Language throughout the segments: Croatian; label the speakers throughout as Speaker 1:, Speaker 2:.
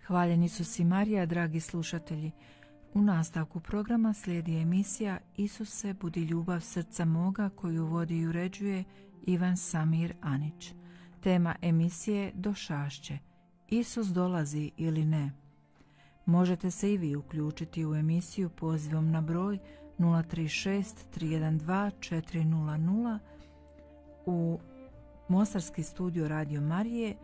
Speaker 1: Hvaljeni Isus i Marija, dragi slušatelji. U nastavku programa slijedi emisija Isuse, budi ljubav srca moga, koju vodi i uređuje Ivan Samir Anić. Tema emisije Došašće. Isus dolazi ili ne? Možete se i vi uključiti u emisiju pozivom na broj 036 312 400 u Mostarski studio Radio Marije,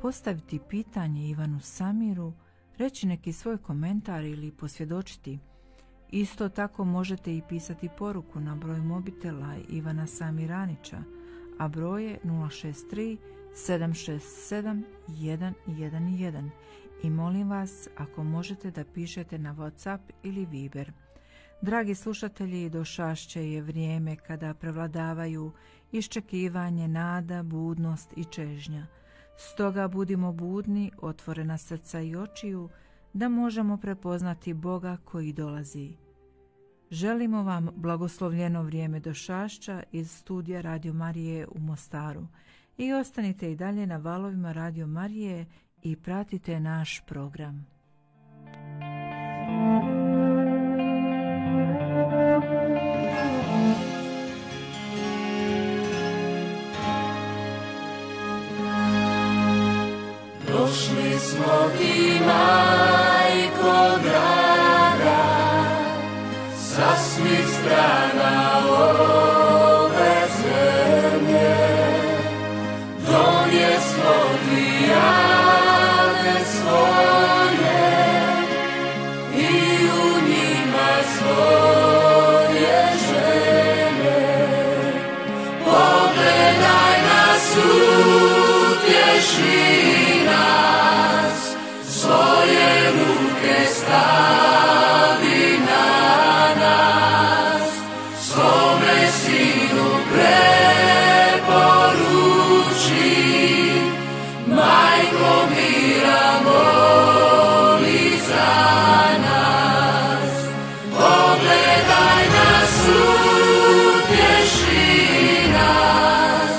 Speaker 1: postaviti pitanje Ivanu Samiru, reći neki svoj komentar ili posvjedočiti. Isto tako možete i pisati poruku na broj mobitela Ivana Samiranića, a broj je 063 767 111. I molim vas, ako možete, da pišete na WhatsApp ili Viber. Dragi slušatelji, došašće je vrijeme kada prevladavaju iščekivanje, nada, budnost i čežnja. Stoga budimo budni, otvorena srca i očiju, da možemo prepoznati Boga koji dolazi. Želimo vam blagoslovljeno vrijeme došašća iz studija Radio Marije u Mostaru i ostanite i dalje na valovima Radio Marije i pratite naš program.
Speaker 2: Došli smo ti, majko draga, sa svih strana ove zemlje. Donijesmo ti jade svoje i u njima svoje želje. Pogledaj nas, utješi nas, svoje ruke stavi na nas, svome sinu preporuči, majko mira moli za nas. Pogledaj nas, utješi nas,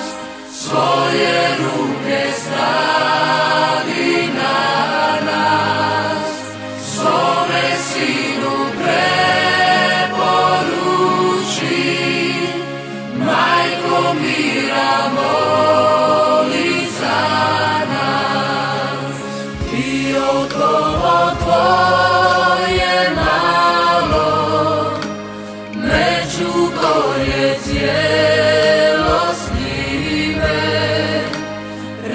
Speaker 2: svoje ruke stavi na nas, svome sinu preporuči, majko mira moli za nas. I okolo tvoje malo, među koje cijelo snime,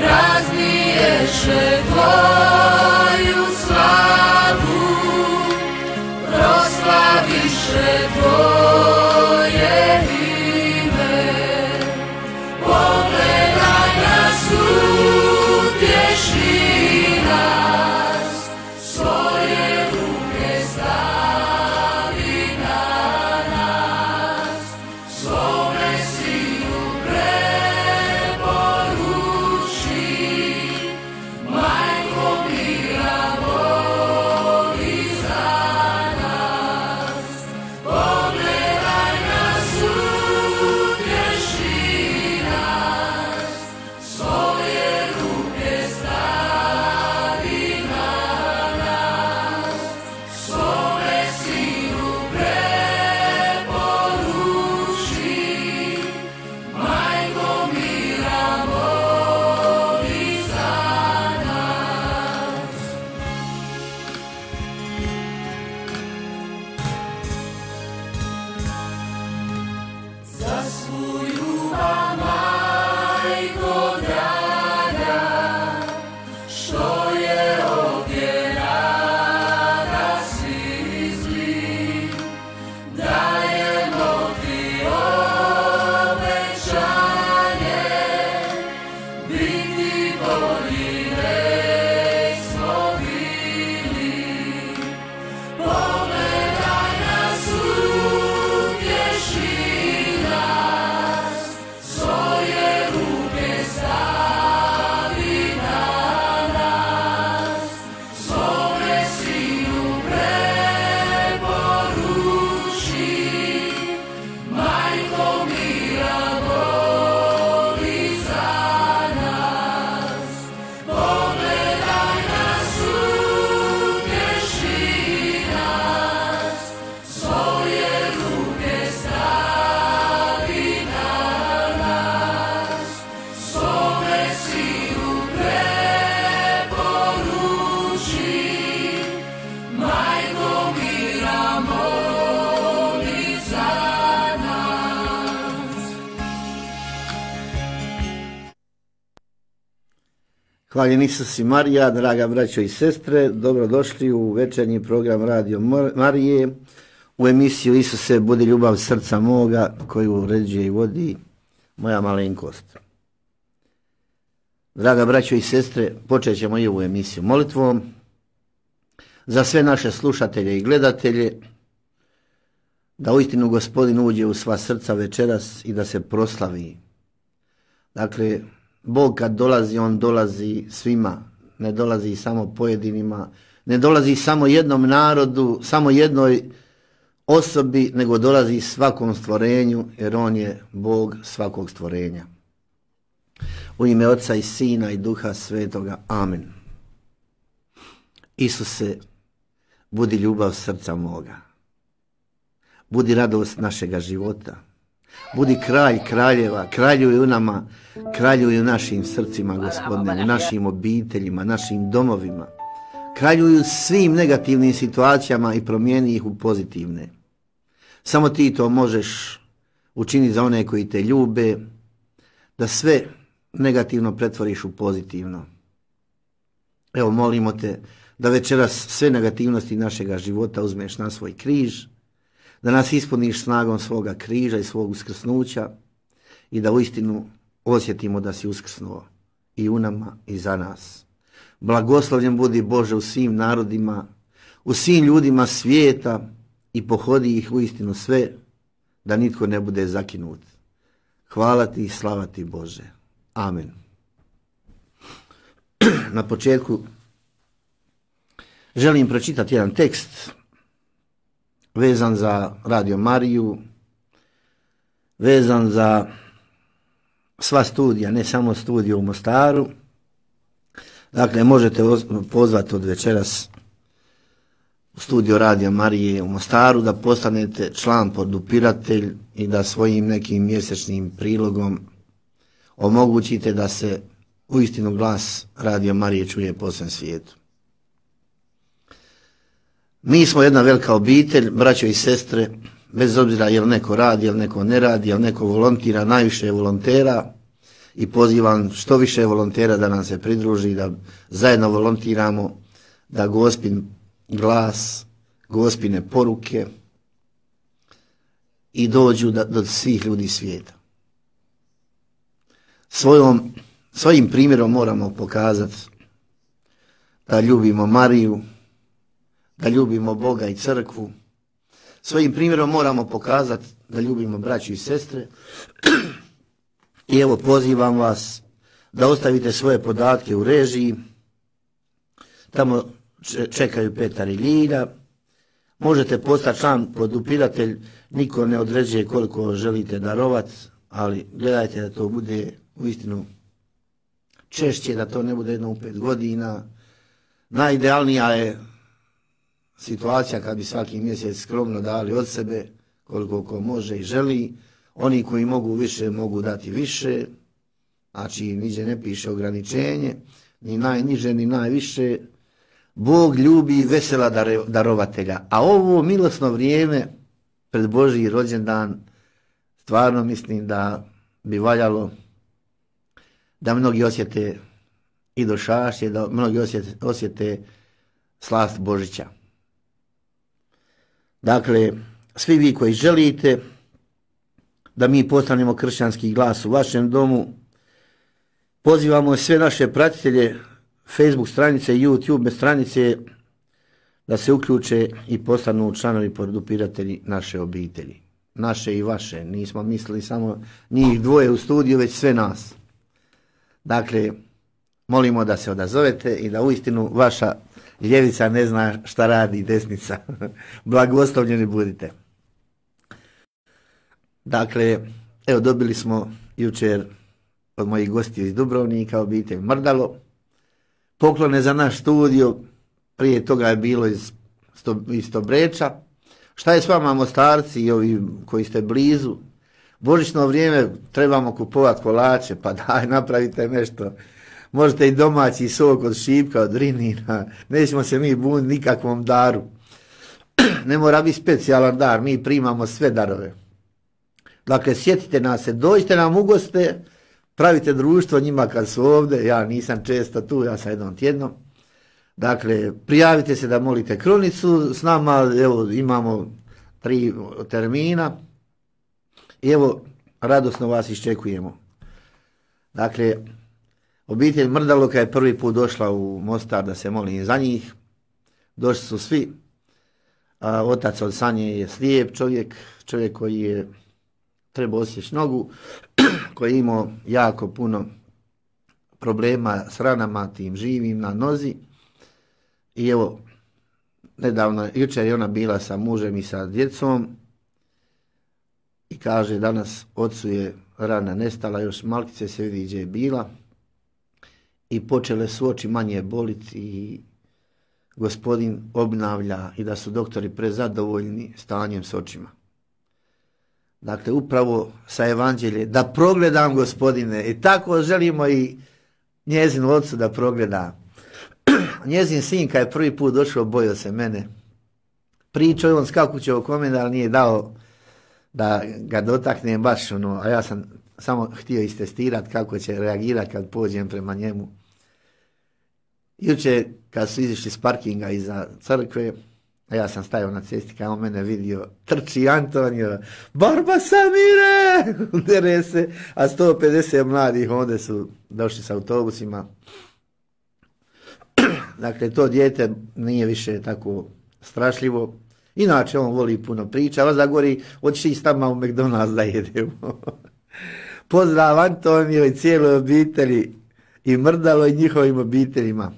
Speaker 2: razniješe tvoju slavu, proslaviše tvoje ime. Pogledaj nas, utješi nas, svoje ruke stavi na nas, svome sinu preporuči, majko mira moli za nas. Pogledaj nas, utješi nas, svoje ruke stavi na nas, svome sinu preporuči, majko mira moli za nas. Za svu ljubav, majko draga, što je ovdje nas izli, dajemo ti obećanje,
Speaker 3: Hvaljen Isus i Marija, draga braćo i sestre, dobrodošli u večernji program Radio Marije, u emisiju Isuse, budi ljubav srca moga, koju uređuje i vodi moja malenkost. Draga braćo i sestre, počet ćemo i ovu emisiju molitvom za sve naše slušatelje i gledatelje, da uistinu Gospodin uđe u sva srca večeras i da se proslavi. Dakle, Bog kad dolazi, on dolazi svima, ne dolazi samo pojedinima, ne dolazi samo jednom narodu, samo jednoj osobi, nego dolazi svakom stvorenju, jer on je Bog svakog stvorenja. U ime Oca i Sina i Duha Svetoga. Amen. Isuse, budi ljubav srca moga. Budi radost našega života. Budi kralj kraljeva, kraljuj u nama, kraljuj u našim srcima, Gospodine, u našim obiteljima, našim domovima. Kraljuj u svim negativnim situacijama i promijeni ih u pozitivne. Samo ti to možeš učiniti za one koji te ljube, da sve negativno pretvoriš u pozitivno. Evo, molimo te da večeras sve negativnosti našega života uzmeš na svoj križ, da nas ispuniš snagom svoga križa i svog uskrsnuća i da uistinu osjetimo da si uskrsnuo i u nama i za nas. Blagoslovljen budi Bože u svim narodima, u svim ljudima svijeta i pohodi ih uistinu sve, da nitko ne bude zakinut. Hvala ti i slava ti Bože. Amen. Na početku želim pročitati jedan tekst vezan za Radio Mariju, vezan za sva studija, ne samo studiju u Mostaru. Dakle, možete pozvati od večeras u studio Radio Marije u Mostaru da postanete član podupiratelj i da svojim nekim mjesečnim prilogom omogućite da se uistinu glas Radio Marije čuje po svem svijetu. Mi smo jedna velika obitelj, braćo i sestre, bez obzira jel neko radi, jel neko ne radi, jel neko volontira, najviše je volontera i pozivam što više volontera da nam se pridruži, da zajedno volontiramo, da Gospin glas, Gospine poruke i dođu do svih ljudi svijeta. Svojim primjerom moramo pokazati da ljubimo Mariju, da ljubimo Boga i crkvu. Svojim primjerom moramo pokazati da ljubimo braću i sestre. I evo, pozivam vas da ostavite svoje podatke u režiji. Tamo čekaju Petar i Ljilja. Možete postati član podupiratelj, niko ne određuje koliko želite darovati, ali gledajte da to bude uistinu češće, da to ne bude jedno u 5 godina. Najidealnija je situacija kad bi svaki mjesec skromno dali od sebe koliko ko može i želi. Oni koji mogu više mogu dati više, znači niđe ne piše ograničenje, ni najniže ni najviše. Bog ljubi vesela darovatelja, a ovo milosno vrijeme pred Božji rođendan stvarno mislim da bi valjalo da mnogi osjete i došašće, da mnogi osjete slast Božića. Dakle, svi vi koji želite da mi postanemo kršćanski glas u vašem domu, pozivamo sve naše pratitelje Facebook stranice i YouTube stranice da se uključe i postanu članovi podupiratelji naše obitelji. Naše i vaše, nismo mislili samo njih dvoje u studiju, već sve nas. Dakle, molimo da se odazovete i da uistinu vaša ljevica ne zna šta radi desnica. Blagoslovljeni budite. Dakle, evo, dobili smo jučer od mojih gostiju iz Dubrovnika, obitelj Mrdalo, poklone za naš studio, prije toga je bilo iz Stobreča. Šta je s vama Mostarci i ovi koji ste blizu? Božićno vrijeme trebamo kupovati kolače, pa daj, napravite nešto. Možete i domaći sok od šipka, od rinina, nećemo se mi buniti nikakvom daru. Ne mora biti specijalan dar, mi primamo sve darove. Dakle, sjetite nas se, dođite nam u goste, pravite društvo njima kad su ovdje, ja nisam često tu, ja sam jednom tjednom. Dakle, prijavite se da molite kronicu s nama, evo imamo 3 termina i evo radosno vas iščekujemo. Dakle, obitelj Mrdaloka je prvi put došla u Mostar da se molim za njih. Došli su svi. Otac od Sanje je slijep čovjek koji je trebao osjeći nogu, koji je imao jako puno problema s ranama tim živim na nozi. I evo, nedavno, jučer je ona bila sa mužem i sa djecom i kaže danas ocu je rana nestala, još malkice se vidi gdje je bila i počele su oči manje boliti i gospodin obnavlja i da su doktori prezadovoljni stanjem s očima. Dakle, upravo sa evanđelje, da progledam gospodine, i tako želimo i njezinu ocu da progleda. Njezin sin kad je prvi put došao, bojao se mene. Pričao je on skakuće oko mene, ali nije dao da ga dotaknem baš ono, a ja sam samo htio istestirati kako će reagirati kad pođem prema njemu. Jučer kad su izišli s parkinga iza crkve, a ja sam stajao na cesti, kad on mene vidio, trči Antonio, Barba Samire, dere se, a 150 mladih onda su došli s autobusima. Dakle, to dijete nije više tako strašljivo. Inače, on voli puno priča, a vas da govori, hoćeš s tamo u McDonald's da jedemo. Pozdrav Antonio i cijeloj obitelji i Mrdalo i njihovim obiteljima.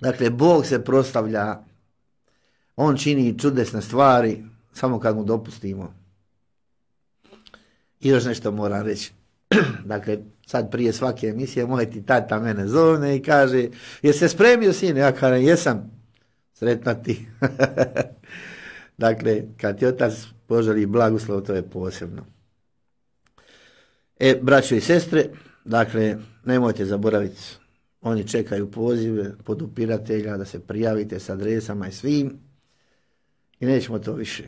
Speaker 3: Dakle, Bog se proslavlja, on čini čudesne stvari, samo kad mu dopustimo. I još nešto moram reći. Dakle, sad prije svake emisije moj ti tata mene zovne i kaže, jesi se spremio sine? Ja kažem, jesam, sretno ti. Dakle, kad ti otac poželi blagoslov, to je posebno. Braćo i sestre, dakle, nemojte zaboraviti, oni čekaju pozive podupiratelja da se prijavite s adresama i svim i nećemo to više.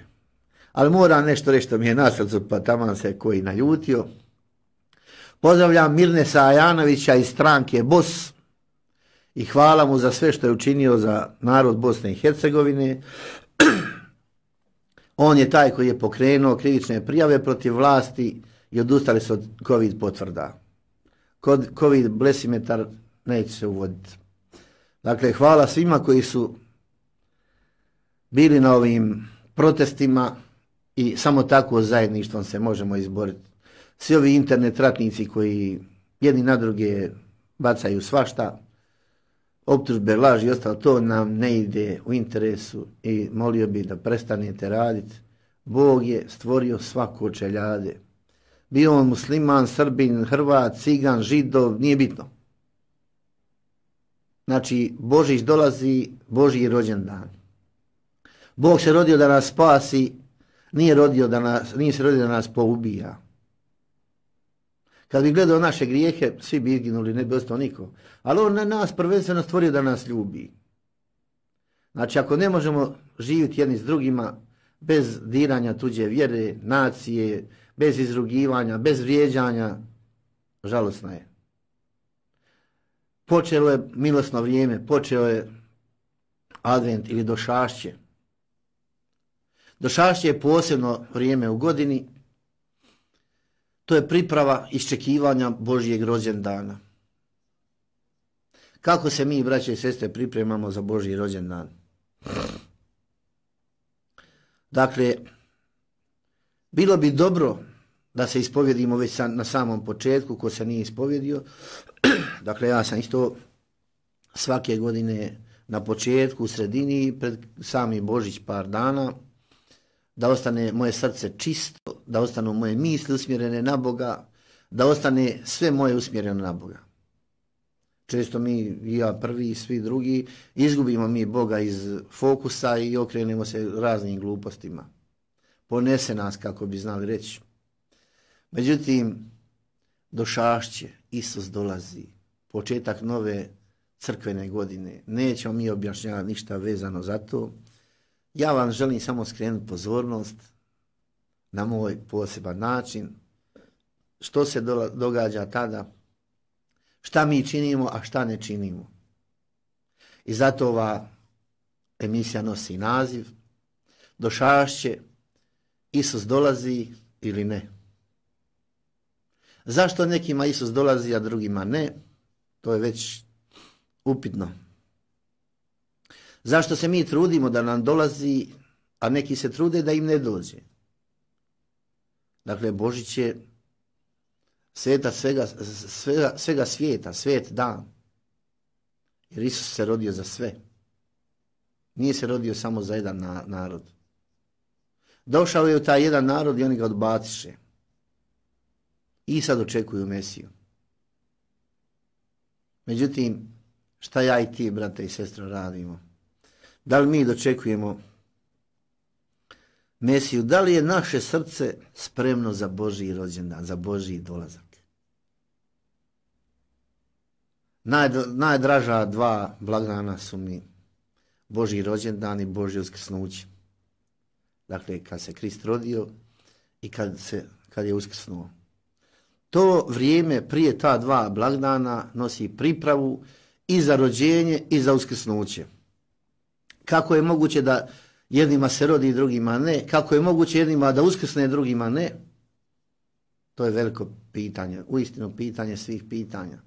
Speaker 3: Ali moram nešto reći što mi je na srcu, pa taman se koji naljutio. Pozdravljam Mirnesa Ajanovića iz stranke BOS i hvala mu za sve što je učinio za narod Bosne i Hercegovine. On je taj koji je pokrenuo krivične prijave protiv vlasti i odustali su od COVID potvrda. Kod COVID blesimetar neće se uvoditi. Dakle, hvala svima koji su bili na ovim protestima i samo tako zajedništvom se možemo izboriti. Svi ovi internet ratnici koji jedni na druge bacaju svašta, optužbe, laži i ostalo, to nam ne ide u interesu i molio bih da prestanete raditi. Bog je stvorio svako čeljade. Bio on musliman, Srbin, Hrvat, Cigan, Židov, nije bitno. Znači, Božić dolazi, Božji rođendan. Bog se rodio da nas spasi, nije se rodio da nas poubija. Kad bi gledao naše grijehe, svi bi izginuli, ne bi ostao niko. Ali on na nas prvenstveno stvorio da nas ljubi. Znači, ako ne možemo živjeti jedni s drugima, bez diranja tuđe vjere, nacije, bez izrugivanja, bez vrijeđanja, žalosno je. Počelo je milosno vrijeme, počeo je advent ili došašće. Došašće je posebno vrijeme u godini. To je priprava iščekivanja Božjeg rođendana. Kako se mi, braće i sestre, pripremamo za Božji rođendan? Dakle, bilo bi dobro da se ispovjedimo već na samom početku, ko se nije ispovjedio. Dakle, ja sam isto svake godine na početku, u sredini, pred sami Božić par dana, da ostane moje srce čisto, da ostanu moje misli usmjerene na Boga, da ostane sve moje usmjereno na Boga. Često mi, i ja prvi i svi drugi, izgubimo mi Boga iz fokusa i okrenemo se raznim glupostima. Ponese nas, kako bi znali reći. Međutim, došašće, Isus dolazi, početak nove crkvene godine. Nećemo mi objašnjavati ništa vezano za to. Ja vam želim samo skrenuti pozornost na moj poseban način. što se događa tada, šta mi činimo, a šta ne činimo. I zato ova emisija nosi naziv Došašće, Isus dolazi ili ne. Zašto nekima Isus dolazi, a drugima ne? To je već upitno. Zašto se mi trudimo da nam dolazi, a neki se trude da im ne Dakle, Božić je sveta svega svijeta, svet dan. Jer Isus se rodio za sve. Nije se rodio samo za jedan narod. Došao je u taj jedan narod i oni ga odbaciše. I sad očekuju Mesiju. Međutim, šta ja i ti, brate i sestre, radimo? Da li mi dočekujemo Mesiju? Da li je naše srce spremno za Božji rođendan, za Božji dolazak? Najdraža dva blagdana su mi Božji rođendan i Božje uskrsnuće. Dakle, kad se Krist rodio i kad je uskrsnuo. To vrijeme prije ta dva blagdana nosi pripravu i za rođenje i za uskrsnuće. Kako je moguće da jednima se rodi, drugima ne? Kako je moguće jednima da uskrsne, drugima ne? To je veliko pitanje, uistinu pitanje svih pitanja.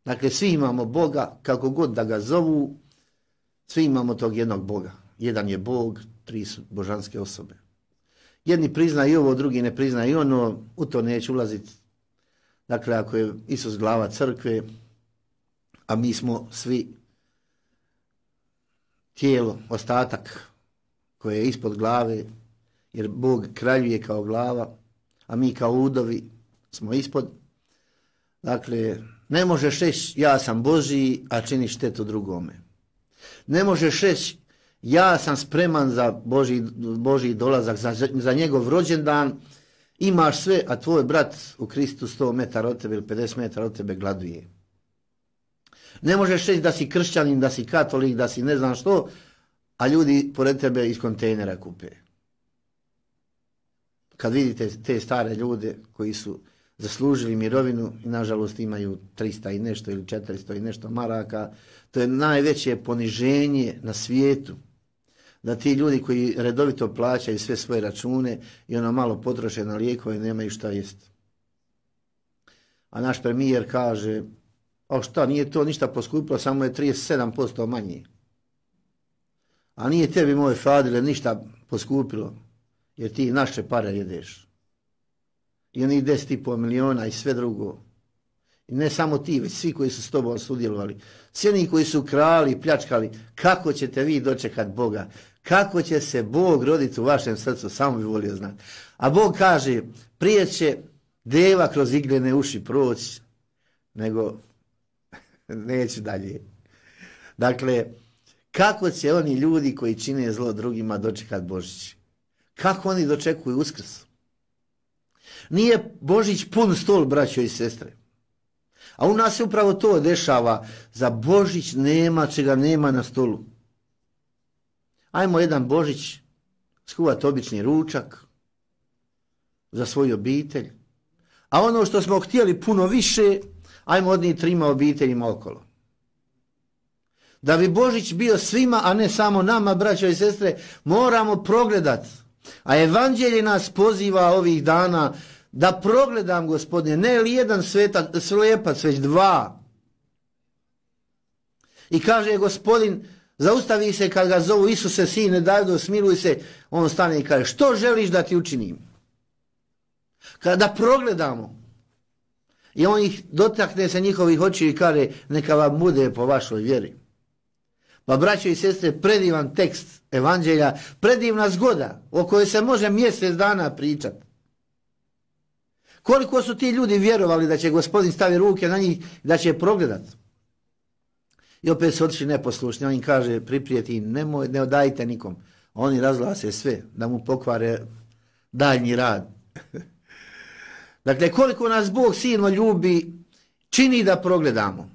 Speaker 3: Dakle, svi imamo Boga, kako god da ga zovu, svi imamo tog jednog Boga. Jedan je Bog, tri su božanske osobe. Jedni priznaju ovo, drugi ne priznaju ono, u to neću ulaziti. Dakle, ako je Isus glava crkve, a mi smo svi tijelo, ostatak koje je ispod glave, jer Bog kraljuje kao glava, a mi kao udovi smo ispod. Dakle, ne možeš reći ja sam Božji, a čini štetu drugome. Ne možeš reći ja sam spreman za Božji dolazak, za njegov rođendan, imaš sve, a tvoj brat u Kristu 100 metara od tebe ili 50 metara od tebe gladuje. Ne možeš reći da si kršćanin, da si katolik, da si ne znam što, a ljudi pored tebe iz kontejnera kupe. Kad vidite te stare ljude koji su zaslužili mirovinu i nažalost imaju 300 i nešto ili 400 i nešto maraka, to je najveće poniženje na svijetu. Da ti ljudi koji redovito plaćaju sve svoje račune i ono malo potroše na lijekove nemaju šta jest. A naš premijer kaže, a šta, nije to ništa poskupilo, samo je 37% manje. A nije tebi, moje Fadile, ništa poskupilo, jer ti naše pare jedeš. I onih 10,5 miliona i sve drugo. I ne samo ti, već svi koji su s tobom sudjelovali. Svi oni koji su krali, pljačkali, kako ćete vi dočekati Boga? Kako će se Bog roditi u vašem srcu? Samo bi volio znati. A Bog kaže, prije će deva kroz iglene uši proći, nego neću dalje. Dakle, kako će oni ljudi koji čine zlo drugima dočekati Božić? Kako oni dočekuju Uskrs? Nije Božić pun stol, braćo i sestre. A u nas se upravo to dešava. Za Božić nema čega nema na stolu. Ajmo jedan Božić skuvati obični ručak za svoju obitelj. A ono što smo htjeli puno više, ajmo odnijeti 3 obiteljima okolo. Da bi Božić bio svima, a ne samo nama, braćo i sestre, moramo progledati. A evanđelje nas poziva ovih dana da progledam, Gospodine, ne li jedan slijepac, već 2. I kaže Gospodin, zaustavi se kad ga zovu, Isuse, sine Davidov, smiluj se, on stane i kaže, što želiš da ti učinim? Kada progledamo, i on ih dotakne se njihovih očiju i kaže, neka vam bude po vašoj vjeri. Pa, braćo i sestre, predivan tekst evanđelja, predivna zgoda o kojoj se može mjesec dana pričati. Koliko su ti ljudi vjerovali da će Gospodin staviti ruke na njih, da će progledati. I opet su otišli neposlušni, on im kaže, priprijeti, ne odajte nikom. Oni razglase sve, da mu pokvare daljnji rad. Dakle, koliko nas Bog silno ljubi, čini da progledamo.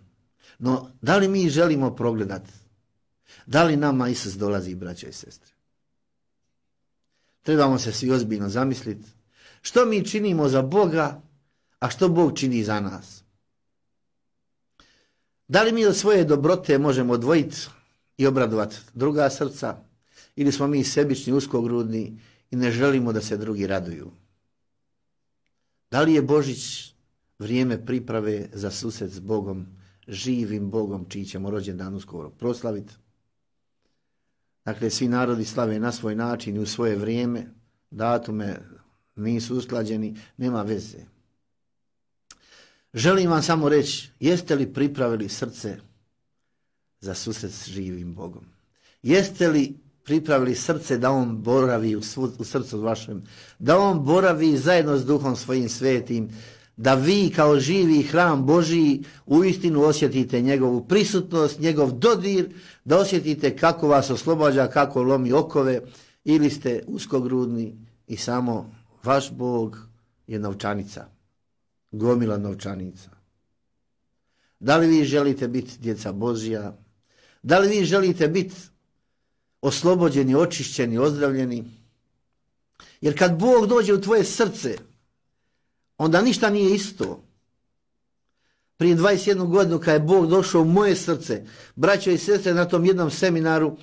Speaker 3: No, da li mi želimo progledati? Da li nama Isus dolazi, braćo i sestre? Trebamo se svi ozbiljno zamisliti. Što mi činimo za Boga, a što Bog čini za nas? Da li mi od svoje dobrote možemo odvojiti i obradovati druga srca, ili smo mi sebični, uskogrudni i ne želimo da se drugi raduju? Da li je Božić vrijeme priprave za susret s Bogom, živim Bogom, čiji ćemo rođendan uskoro proslaviti? Dakle, svi narodi slave na svoj način i u svoje vrijeme, datume nisu usklađeni, nema veze. Želim vam samo reći, jeste li pripravili srce za susret s živim Bogom? Jeste li pripravili srce da on boravi u srcu vašem, da on boravi zajedno s Duhom svojim svetim, da vi kao živi hram Božiji uistinu osjetite njegovu prisutnost, njegov dodir, da osjetite kako vas oslobađa, kako lomi okove, ili ste uskogrudni i samo vaš Bog je novčanica, gomila novčanica. Da li vi želite biti djeca Božja? Da li vi želite biti oslobođeni, očišćeni, ozdravljeni? Jer kad Bog dođe u tvoje srce, onda ništa nije isto. Prije 21 godinu kad je Bog došao u moje srce, braćo i sestre, na tom jednom seminaru,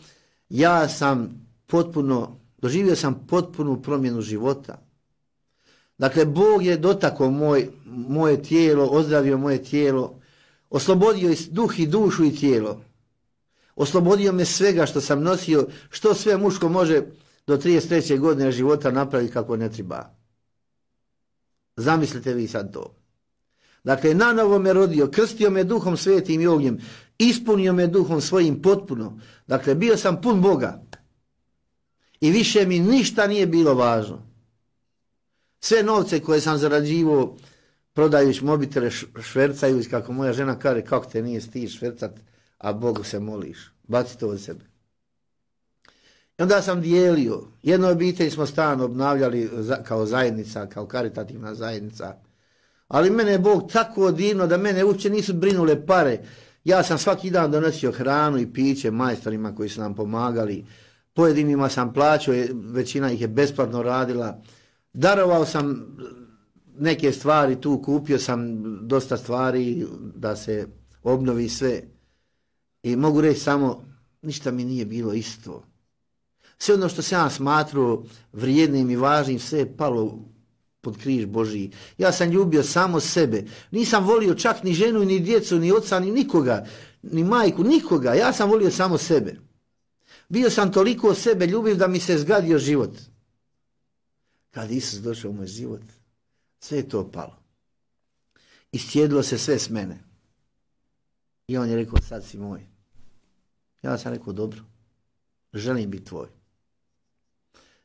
Speaker 3: doživio sam potpunu promjenu života. Dakle, Bog je dotakao moje tijelo, ozdravio moje tijelo, oslobodio i duh i dušu i tijelo. Oslobodio me svega što sam nosio, što sve muško može do 33. godine života napraviti kako ne treba. Zamislite vi sad to. Dakle, nanovo me rodio, krstio me Duhom Svetim i ognjem, ispunio me Duhom svojim potpuno. Dakle, bio sam pun Boga. I više mi ništa nije bilo važno. Sve novce koje sam zarađivao, prodajući mobitele, švercajući, kako moja žena kaže, kako te nije stid švercat, a Bogu se moliš. Baci to od sebe. I onda sam dijelio. Jednu obitelj smo stan obnavljali kao zajednica, kao karitativna zajednica. Ali mene je Bog tako divno da mene uopće nisu brinule pare. Ja sam svaki dan donosio hranu i piće majstorima koji su nam pomagali. Pojedinima sam plaćao, većina ih je besplatno radila. Darovao sam neke stvari tu, kupio sam dosta stvari da se obnovi sve. I mogu reći samo, ništa mi nije bilo isto. Sve ono što sam ja smatrao vrijednim i važnim, sve je palo pod križ Božiji. Ja sam ljubio samo sebe. Nisam volio čak ni ženu, ni djecu, ni oca, ni nikoga, ni majku, nikoga. Ja sam volio samo sebe. Bio sam toliko sebe ljubiv da mi se zgadio život. Kad Isus došao u moj život, sve je to palo. Iscijedilo se sve s mene. I on je rekao, sad si moj. Ja sam rekao, dobro, želim biti tvoj.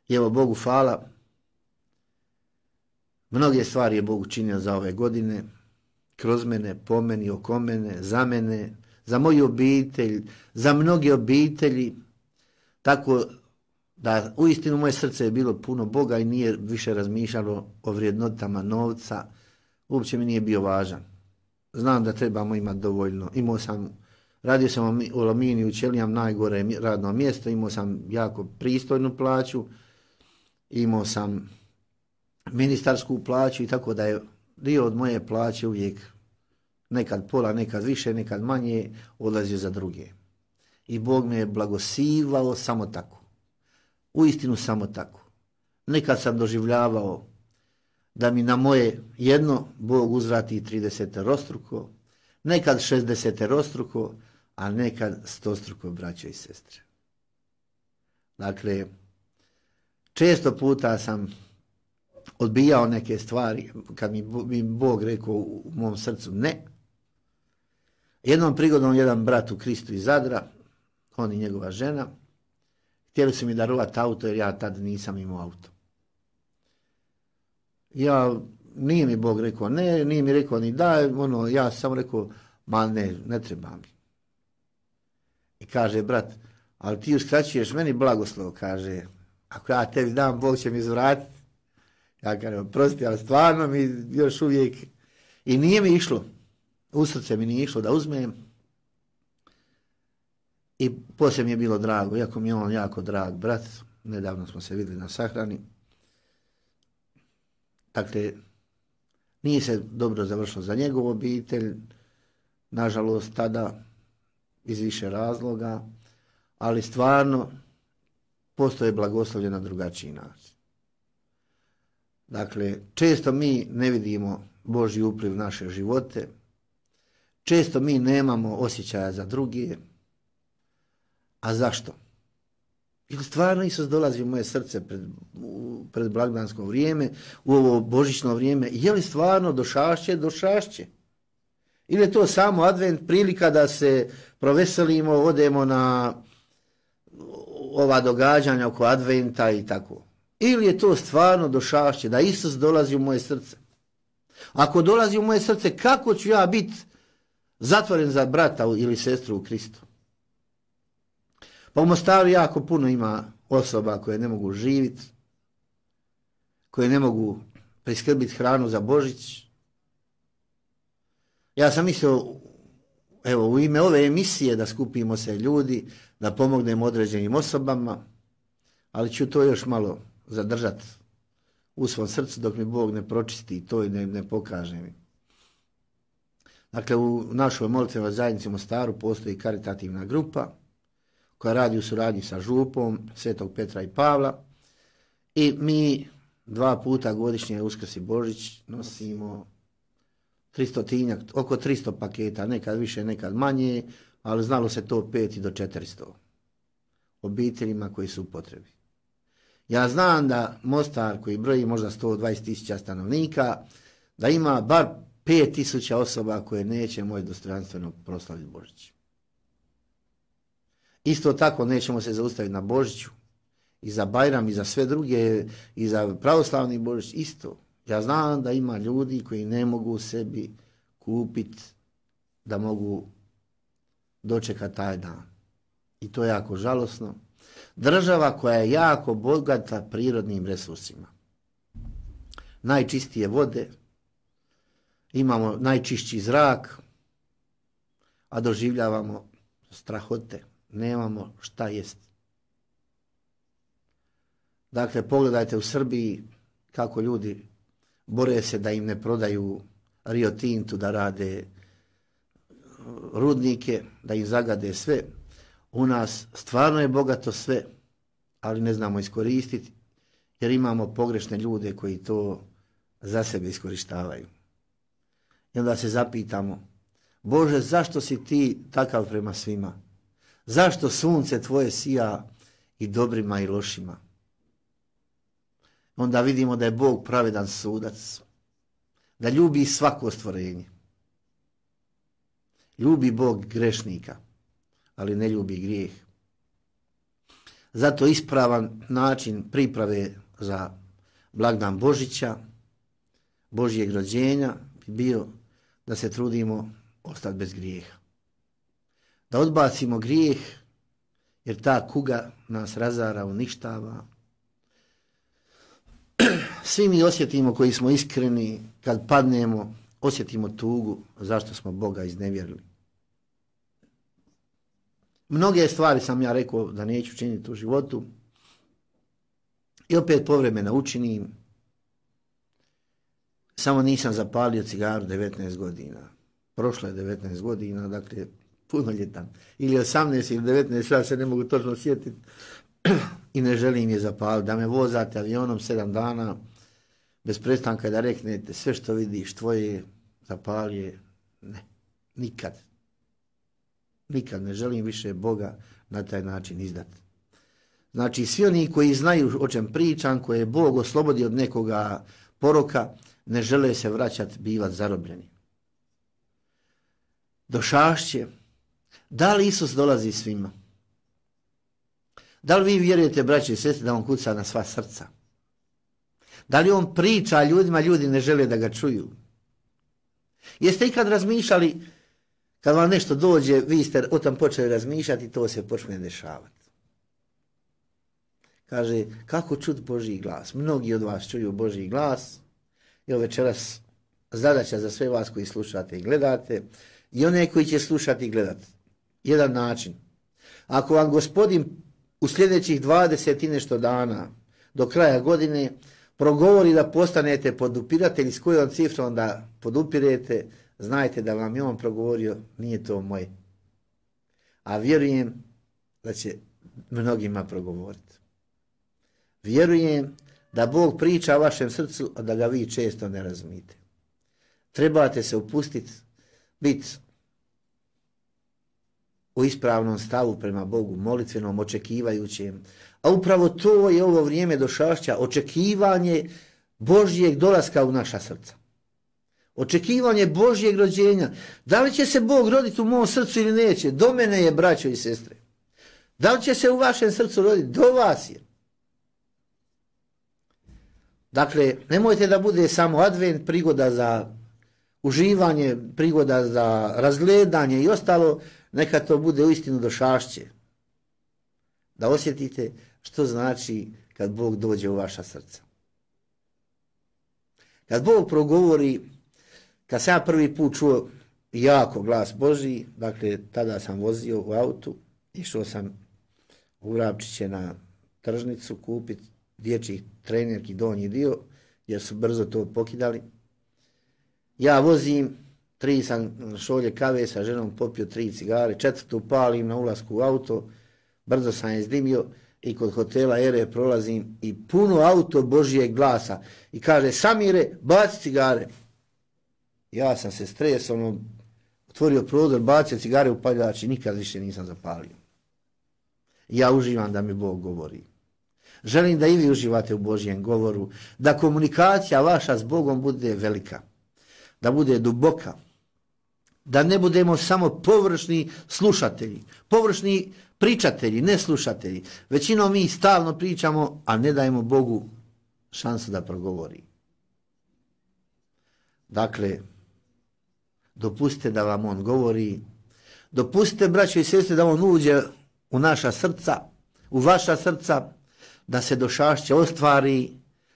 Speaker 3: I evo, Bogu hvala. Mnoge stvari je Bog učinio za ove godine, kroz mene, po meni, oko mene, za mene, za moju obitelj, za mnoge obitelji, tako da uistinu moje srce je bilo puno Boga i nije više razmišljalo o vrijednotama novca, uopće mi nije bio važan. Znam da trebamo imati dovoljno. Radio sam u Aluminiju, u Ćelijam, najgore radno mjesto, imao sam jako pristojnu plaću, imao sam ministarsku plaću i tako da je dio od moje plaće uvijek nekad pola, nekad više, nekad manje odlazio za druge. I Bog me je blagosivao samo tako. Uistinu samo tako. Nekad sam doživljavao da mi na moje jedno Bog uzvrati 30-rostruko, nekad 60-rostruko, a nekad 100-struko, braćo i sestre. Dakle, često puta sam odbijao neke stvari kad mi Bog rekao u mom srcu ne. Jednom prigodom jedan brat u Kristu iz Zadra, on i njegova žena, htjeli su mi darovati auto jer ja tad nisam imao auto. Nije mi Bog rekao ne, nije mi rekao ni da, ja sam rekao, ma ne treba mi. I kaže brat, ali ti uskraćuješ meni blagoslov, kaže, ako ja tebi dam, Bog će mi zvratiti. Ja kažem, prosti, ali stvarno mi još uvijek, i nije mi išlo, u srce mi nije išlo da uzmem. I poslije mi je bilo drago, iako mi je on jako drag brat, nedavno smo se vidjeli na sahrani. Dakle, nije se dobro završilo za njegovu obitelj, nažalost tada iz više razloga, ali stvarno postoje blagoslovlje na drugačiji način. Dakle, često mi ne vidimo Božji upliv u naše živote, često mi nemamo osjećaja za druge. A zašto? Jer stvarno Isus dolazi u moje srce pred blagdansko vrijeme, u ovo božićno vrijeme. Je li stvarno došašće? Došašće. Ili je to samo advent, prilika da se proveselimo, odemo na ova događanja oko adventa i tako. Ili je to stvarno došašće, da Isus dolazi u moje srce. Ako dolazi u moje srce, kako ću ja biti zatvoren za brata ili sestru u Kristu? Pa u Mostaru jako puno ima osoba koje ne mogu živjeti, koje ne mogu priskrbiti hranu za Božić. Ja sam mislio, evo, u ime ove emisije da skupimo se ljudi, da pomognemo određenim osobama, ali ću to još malo zadržati u svom srcu dok mi Bog ne pročisti to i ne pokaže mi. Dakle, u našoj molitvenoj zajednici u Mostaru postoji karitativna grupa koja radi u suradnji sa župom Svetog Petra i Pavla i mi 2 puta godišnje Uskrs i Božić nosimo 300, oko 300 paketa, nekad više, nekad manje, ali znalo se to 5 do 400 obiteljima koji su u potrebi. Ja znam da Mostar, koji broji možda 120.000 stanovnika, da ima bar 5.000 osoba koje neće moći dostojanstveno proslaviti Božić. Isto tako nećemo se zaustaviti na Božiću i za Bajram i za sve druge i za pravoslavni Božić isto. Ja znam da ima ljudi koji ne mogu sebi kupiti da mogu dočekati taj dan. I to je jako žalosno. Država koja je jako bogata prirodnim resursima. Najčistije vode, imamo najčišći zrak, a doživljavamo strahote. Nemamo šta jest. Dakle, pogledajte u Srbiji kako ljudi bore se da im ne prodaju Rio Tintu, da rade rudnike, da im zagade sve. U nas stvarno je bogato sve, ali ne znamo iskoristiti, jer imamo pogrešne ljude koji to za sebe iskorištavaju. I onda se zapitamo, Bože, zašto si ti takav prema svima? Zašto sunce tvoje sija i dobrima i lošima? Onda vidimo da je Bog pravedan sudac, da ljubi svako stvorenje. Ljubi Bog grešnika, ali ne ljubi grijeh. Zato ispravan način priprave za blagdan Božića, Božjeg rođenja bi bio da se trudimo ostati bez grijeha. Da odbacimo grijeh, jer ta kuga nas razara, uništava. Svi mi osjetimo, koji smo iskreni, kad padnemo, osjetimo tugu zašto smo Boga iznevjerili. Mnoge stvari sam ja rekao da neću činiti u životu i opet povremeno učinim. Samo nisam zapalio cigaru 19 godina. Prošlo je 19 godina, dakle punoljetan. Ili 18 ili 19, ja se ne mogu točno sjetiti i ne želim je zapaliti. Da me vozate avionom 7 dana bez prestanka da reknete sve što vidiš tvoje zapalje. Ne, nikad. Nikad ne želim više Boga na taj način izdati. Znači, svi oni koji znaju o čem pričam, koje je Bog oslobodio od nekoga poroka, ne žele se vraćati, bivati zarobljeni. Došašće. Da li Isus dolazi svima? Da li vi vjerujete, braće i sestre, da on kuca na sva srca? Da li on priča ljudima, ljudi ne žele da ga čuju? Jeste ikad razmišljali, kad vam nešto dođe, vi ste o tom počeli razmišljati i to se počne dešavati. Kaže, kako čuti Božji glas? Mnogi od vas čuju Božji glas. I večeras zadaća za sve vas koji slušate i gledate i one koji će slušati i gledati. Jedan način. Ako vam Gospodin u sljedećih 20 i nešto dana do kraja godine progovori da postanete podupiratelji, s kojom cifrom da podupirete, znajte da vam je on progovorio, nije to moje. A vjerujem da će mnogima progovoriti. Vjerujem da Bog priča o vašem srcu, a da ga vi često ne razumite. Trebate se upustiti, biti u ispravnom stavu prema Bogu, molitvenom, očekivajućem. A upravo to je ovo vrijeme došašća, očekivanje Božjeg dolaska u naša srca. Očekivanje Božjeg rođenja. Da li će se Bog roditi u mom srcu ili neće? Do mene je, braćo i sestre. Da li će se u vašem srcu roditi? Do vas je. Dakle, nemojte da bude samo advent, prigoda za uživanje, prigoda za razgledanje i ostalo, neka to bude uistinu došašće. Da osjetite što znači kad Bog dođe u vaša srca. Kad Bog progovori, kad sam ja prvi put čuo jako glas Božji, dakle tada sam vozio u autu, išao sam u Vrapčiće na tržnicu kupiti dječjih trenerki donji dio, jer su brzo to pokidali. Ja vozim, 3 sam šolje kave sa ženom, popio 3 cigare, 4. palim na ulasku u auto, brzo sam je izdimio i kod hotela Ere prolazim i puno auto Božijeg glasa i kaže: Samire, baci cigare. Ja sam se stresao, otvorio prozor, bacio cigare u paljač i nikad više nisam zapalio. Ja uživam da mi Bog govori. Želim da i vi uživate u Božjem govoru, da komunikacija vaša s Bogom bude velika, da bude duboka, da ne budemo samo površni slušatelji, površni pričatelji, ne slušatelji. Većinom mi stalno pričamo, a ne dajemo Bogu šansu da progovori. Dakle, dopustite da vam on govori, dopustite, braćo i sestre, da on uđe u naša srca, u vaša srca, da se došašće ostvari,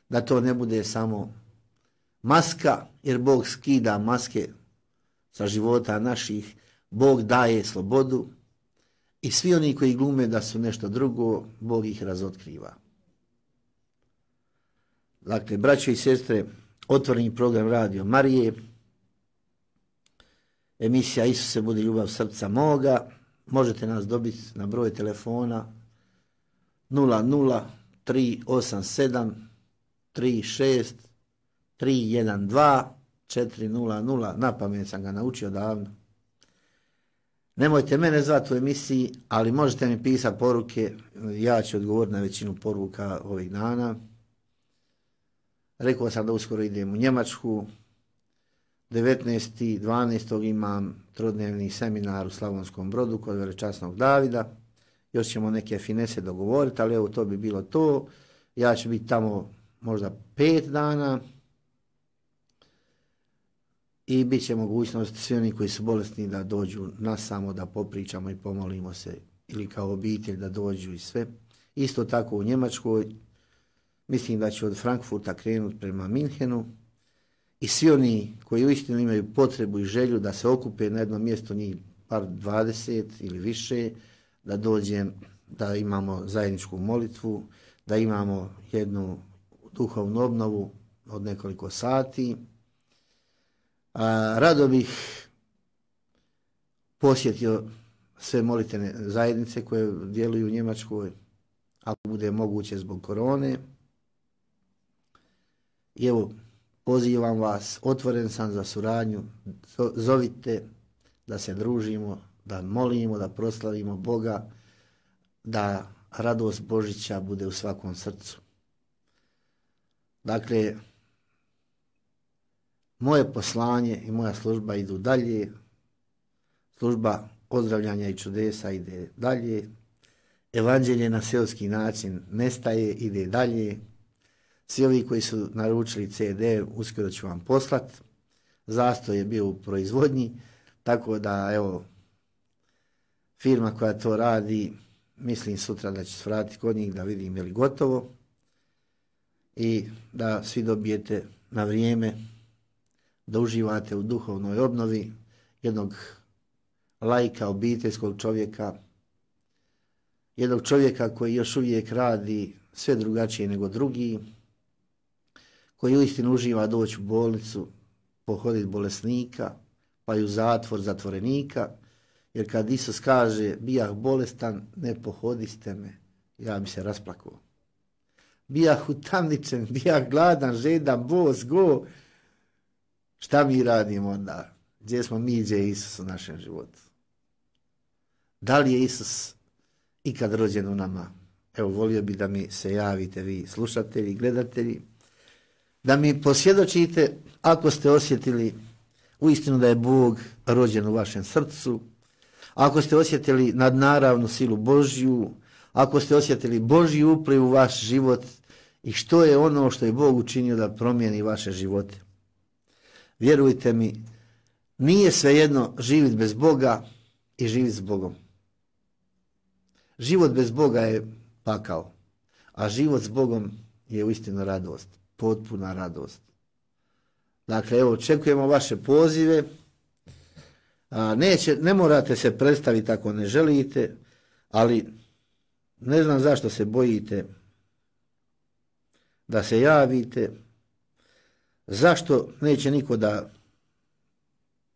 Speaker 3: da to ne bude samo maska, jer Bog skida maske sa života naših, Bog daje slobodu i svi oni koji glume da su nešto drugo, Bog ih razotkriva. Dakle, braćo i sestre, otvoreni program Radio Marije, emisija Isuse budi ljubav srca moga, možete nas dobiti na broj telefona 00387 36 312 400, na pamet sam ga naučio davno. Nemojte mene zvati u emisiji, ali možete mi pisati poruke, ja ću odgovoriti na većinu poruka ovih dana. Rekao sam da uskoro idem u Njemačku, 19.12. imam trodnevni seminar u Slavonskom Brodu kod velečasnog Davida, još ćemo neke finese dogovoriti, ali evo to bi bilo to. Ja ću biti tamo možda 5 dana i bit će mogućnost svi oni koji su bolesni da dođu nas samo da popričamo i pomolimo se, ili kao obitelj da dođu i sve. Isto tako u Njemačkoj, mislim da će od Frankfurta krenuti prema Minhenu i svi oni koji uistinu imaju potrebu i želju da se okupe na jednom mjestu, njih par 20 ili više, da dođem, da imamo zajedničku molitvu, da imamo jednu duhovnu obnovu od nekoliko sati. Rado bih posjetio sve molitvene zajednice koje djeluju u Njemačkoj, ako bude moguće zbog korone. I evo, pozivam vas, otvoren sam za suradnju, zovite da se družimo, da molimo, da proslavimo Boga, da radost Božića bude u svakom srcu. Dakle, moje poslanje i moja služba idu dalje, služba ozdravljanja i čudesa ide dalje, evanđelje na seoski način nestaje, ide dalje. Svi ovi koji su naručili CD, uskoro ću vam poslat. Zastoj je bio u proizvodnji, tako da evo, firma koja to radi, mislim sutra da će se vratiti kod njih da vidim je li gotovo i da svi dobijete na vrijeme, da uživate u duhovnoj obnovi jednog laika, obiteljskog čovjeka, jednog čovjeka koji još uvijek radi sve drugačije nego drugi, koji uistinu uživa doći u bolnicu, pohoditi bolesnika, pa i u zatvor zatvorenika, jer kad Isus kaže bijah bolestan, ne pohodiste me, ja bi se rasplakao. Bijah utamničen, bijah gladan, žedan, bos, go. Šta mi radimo onda? Gdje smo mi, gdje je Isus u našem životu? Da li je Isus ikad rođen u nama? Evo, volio bi da mi se javite vi slušatelji, gledatelji, da mi posvjedočite ako ste osjetili uistinu da je Bog rođen u vašem srcu, ako ste osjetili nadnaravnu silu Božju, ako ste osjetili Božji upliv u vaš život i što je ono što je Bog učinio da promijeni vaše živote. Vjerujte mi, nije svejedno živjeti bez Boga i živjeti s Bogom. Život bez Boga je pakao, a život s Bogom je uistinu radost, potpuna radost. Dakle, evo, očekujemo vaše pozive. Ne morate se predstaviti ako ne želite, ali ne znam zašto se bojite da se javite, zašto neće niko da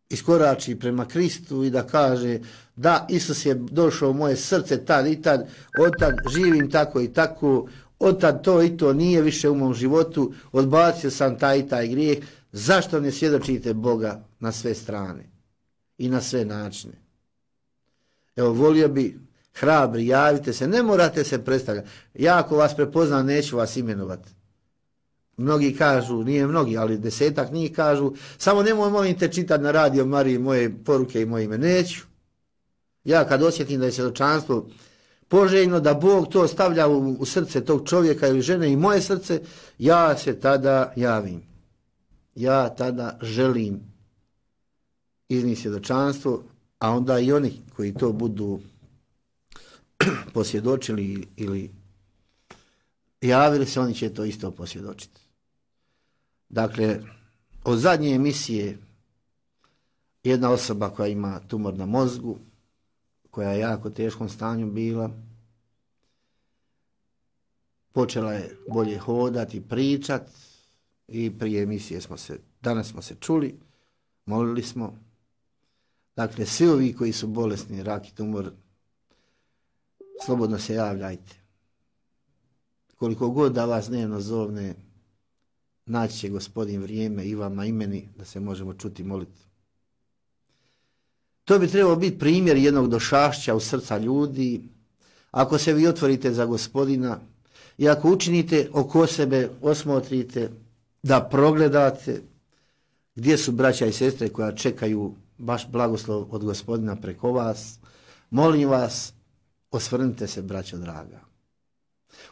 Speaker 3: iskorači prema Kristu i da kaže da, Isus je došao u moje srce tad i tad, od tad živim tako i tako, od tad to i to nije više u mom životu, odbacio sam taj i taj grijeh. Zašto ne svjedočite Boga na sve strane i na sve načine? Evo, volio bi hrabri, javite se, ne morate se predstavljati. Ja ako vas prepoznam, neću vas imenovati. Mnogi kažu, nije mnogi, ali 10-ak njih kažu, samo nemoj molim te čitati na radio Mariji moje poruke i moje ime. Neću. Ja kad osjetim da je svjedočanstvo poželjno, da Bog to stavlja u srce tog čovjeka ili žene i moje srce, ja se tada javim. Ja tada želim iznijeti svjedočanstvo, a onda i oni koji to budu posvjedočili ili javili se, oni će to isto posvjedočiti. Dakle, od zadnje emisije jedna osoba koja ima tumor na mozgu, koja je jako teškom stanju bila, počela je bolje hodati, pričati i prije emisije danas smo se čuli, molili smo. Dakle, svi ovi koji su bolesni, rak i tumor, slobodno se javljajte. Koliko god da vas dnevno zovne, naći će Gospodin vrijeme i vama i meni da se možemo čuti moliti. To bi trebalo biti primjer jednog došašća u srca ljudi. Ako se vi otvorite za Gospodina i ako učinite oko sebe, osmotrite, da progledate gdje su braća i sestre koja čekaju baš blagoslov od Gospodina preko vas, molim vas, osvrnite se, braćo draga.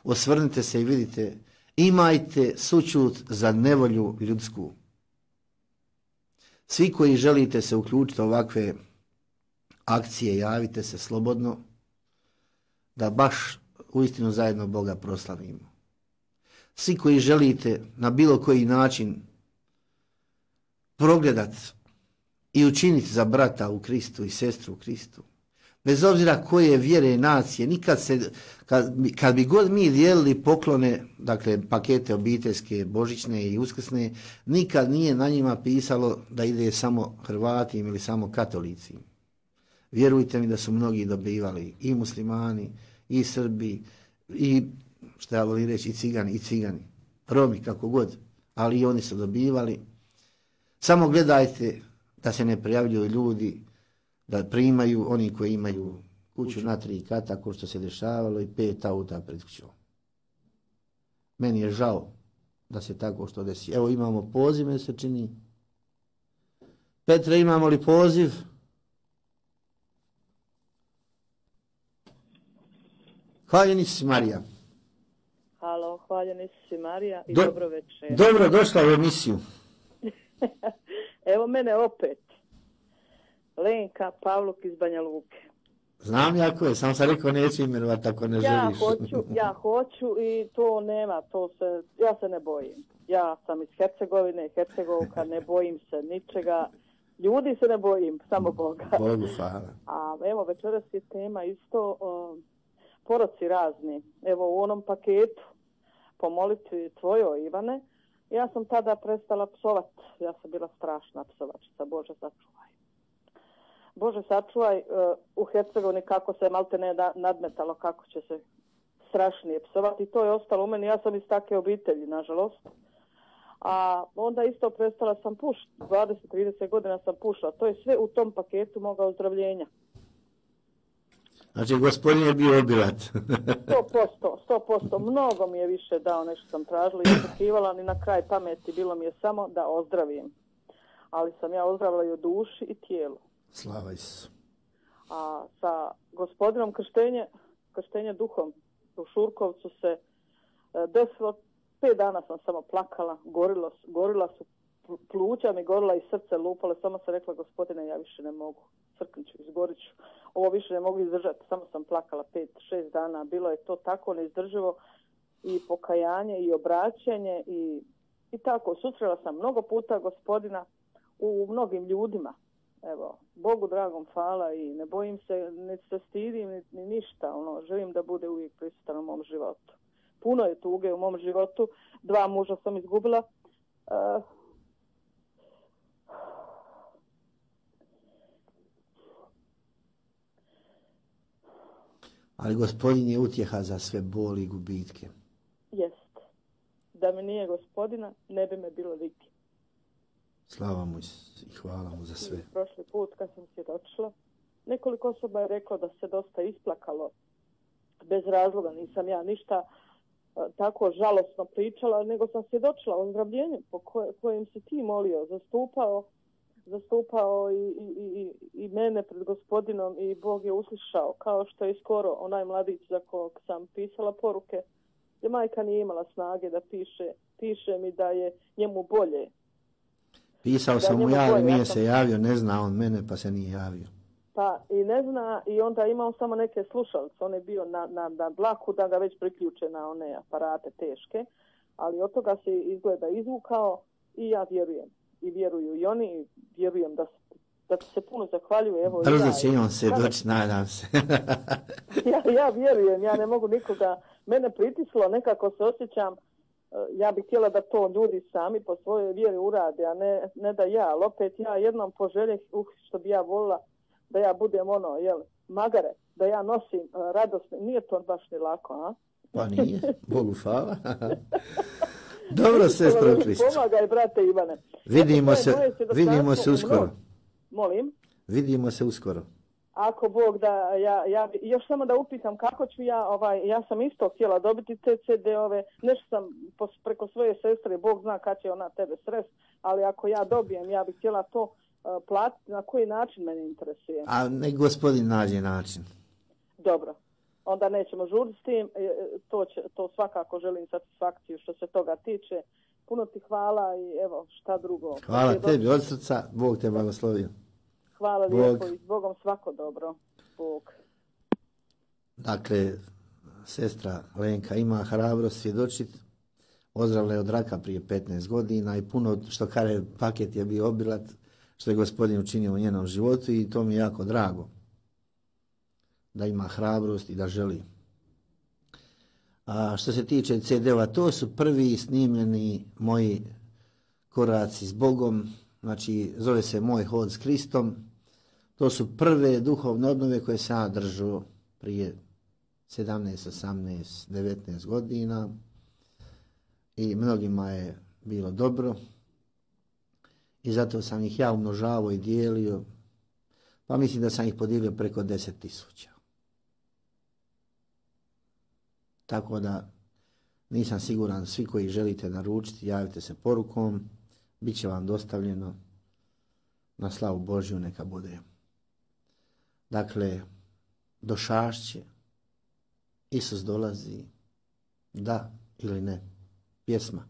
Speaker 3: Osvrnite se i vidite, imajte sućut za nevolju ljudsku. Svi koji želite se uključiti u ovakve akcije, javite se slobodno, da baš uistinu zajedno Boga proslavimo. Svi koji želite na bilo koji način progledati i učiniti za brata u Kristu i sestru u Kristu, bez obzira koje vjere i nacije, nikad se, kad bi god mi dijelili poklone, dakle pakete obiteljske, božićne i uskrsne, nikad nije na njima pisalo da ide samo Hrvati ili samo katolici. Vjerujte mi da su mnogi dobivali, i muslimani, i Srbi, i šta ja volim reći, i cigani, Romi, kako god, ali i oni su dobivali. Samo gledajte da se ne prijavljuju ljudi, da primaju oni koji imaju kuću na 3 kata, ko što se dešavalo, i 5 auta pred kućom. Meni je žao da se tako što desi. Evo, imamo poziv, me se čini. Petre, imamo li poziv? Hvaljeni si, Marija.
Speaker 4: Halo, hvaljeni si, Marija, i dobro večer.
Speaker 3: Dobro, došla u emisiju.
Speaker 4: Evo mene opet. Lenka Pavluk iz Banja Luke.
Speaker 3: Znam ja ko je, sam sam rekao neću imenovati ako ne želiš.
Speaker 4: Ja hoću i to nema, ja se ne bojim. Ja sam iz Hercegovka, ne bojim se ničega. Ljudi se ne bojim, samo Boga.
Speaker 3: Bogu hvala.
Speaker 4: A evo, večeras je tema isto poroci razni. Evo u onom paketu po molitvi tvojoj, Ivane, Ja sam tada prestala psovat. Ja sam bila strašna psovačica, Bože sačuvaj. Bože sačuvaj, u Hercegovini kako se malte ne nadmetalo, kako će se strašnije psovati. To je ostalo u meni. Ja sam iz takve obitelji, nažalost. A onda isto prestala sam pušiti. 20-30 godina sam pušila. To je sve u tom paketu moga ozdravljenja.
Speaker 3: Znači, gospodin je bio obilat.
Speaker 4: 100%. Mnogo mi je više dao nešto sam tražila i očekivala, ni na kraj pameti bilo mi je samo da ozdravim. Ali sam ja ozdravila i u duši i tijelu.
Speaker 3: Slava Isusu.
Speaker 4: A sa gospodinom krštenje duhom u Šurkovcu se desilo, 5 dana sam samo plakala, gorila su pluća mi, gorila i srce lupalo, samo sam rekla, gospodine, ja više ne mogu, crknut ću, izgorit ću, ovo više ne mogu izdržati, samo sam plakala 5-6 dana, bilo je to tako neizdrživo i pokajanje i obraćanje i tako, susrela sam mnogo puta gospodina u mnogim ljudima. Evo, Bogu dragom hvala i ne bojim se, ne se stidim ni ništa, želim da bude uvijek prisutan u mom životu. Puno je tuge u mom životu, 2 muža sam izgubila.
Speaker 3: Ali gospodin je utjeha za sve boli i gubitke.
Speaker 4: Jest. Da mi nije gospodina, ne bi me bilo viki.
Speaker 3: Slava mu i hvala mu za sve.
Speaker 4: Prošli put kad sam svjedočila, nekoliko osoba je reklo da se dosta isplakalo bez razloga. Nisam ja ništa tako žalosno pričala, nego sam svjedočila o ozdravljenju po kojem si ti molio, zastupao i mene pred gospodinom i Bog je uslišao, kao što je skoro onaj mladić za kog sam pisala poruke, gdje majka nije imala snage da piše mi da je njemu bolje.
Speaker 3: Pisao sam mu ja, ali nije se javio, ne zna on mene pa se nije javio.
Speaker 4: Pa i ne zna i onda imao samo neke slušalice, on je bio na dlaku da ga već priključe na one aparate teške, ali od toga se izgleda izvukao i ja vjerujem. I vjeruju i oni, i vjerujem da ti se puno zahvaljuju. Evo,
Speaker 3: brzo će i on se doći, nadam se.
Speaker 4: ja vjerujem, ja ne mogu nikoga, mene pritislo, nekako se osjećam, ja bih htjela da to ljudi sami po svojoj vjeri urade, a ne da ja, ali opet ja jednom poželjeh, što bi ja volila, da ja budem magare, da ja nosim radost, nije to baš ni lako, a?
Speaker 3: Pa nije, Bogu hvala. Dobro, sestro Kristo.
Speaker 4: Pomagaj, brate Ivane.
Speaker 3: Vidimo se uskoro.
Speaker 4: Molim?
Speaker 3: Vidimo se uskoro.
Speaker 4: Ako Bog da, ja još samo da upitam kako ću ja sam isto htjela dobiti te CD-ove, nešto sam preko svoje sestre, Bog zna kad će ona tebe srest, ali ako ja dobijem, ja bih htjela to platiti, na koji način mene interesuje.
Speaker 3: A nek gospodin nađe način.
Speaker 4: Dobro. Onda nećemo žuriti s tim, to svakako želim satisfakciju što se toga tiče. Puno ti hvala i evo šta drugo.
Speaker 3: Hvala tebi od srca, Bog te blagoslovio.
Speaker 4: Hvala lijepo i s Bogom svako dobro. Bog.
Speaker 3: Dakle, sestra Lenka ima hrabrost svjedočiti, ozdravila je od raka prije 15 godina i puno što kaže paket je bio obilat, što je gospodin učinio u njenom životu i to mi je jako drago. Da ima hrabrost i da želi. A što se tiče CD-ova, to su prvi snimljeni moji koraci s Bogom, znači zove se Moj hod s Kristom. To su prve duhovne obnove koje sam ja držao prije 17, 18, 19 godina i mnogima je bilo dobro i zato sam ih ja umnožavao i dijelio, pa mislim da sam ih podijelio preko 10.000. Tako da nisam siguran, svi koji želite naručiti, javite se porukom, bit će vam dostavljeno na slavu Božju, neka bude. Dakle, došašće, Isus dolazi, da ili ne, pjesma.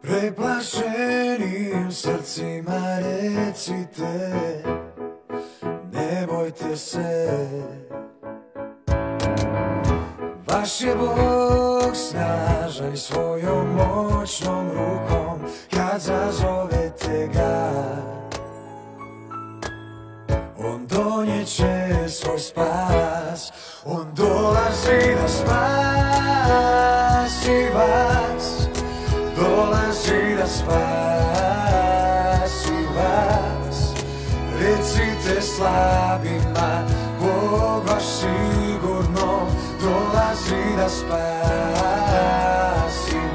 Speaker 2: Preplašenim srcima recite, ne bojte se, i svojom moćnom rukom kad zazovete ga. On donijeće svoj spas, on dolazi da spasi vas, dolazi da spasi vas. Recite slabima, Bog vaš sigurno dolazi da spasi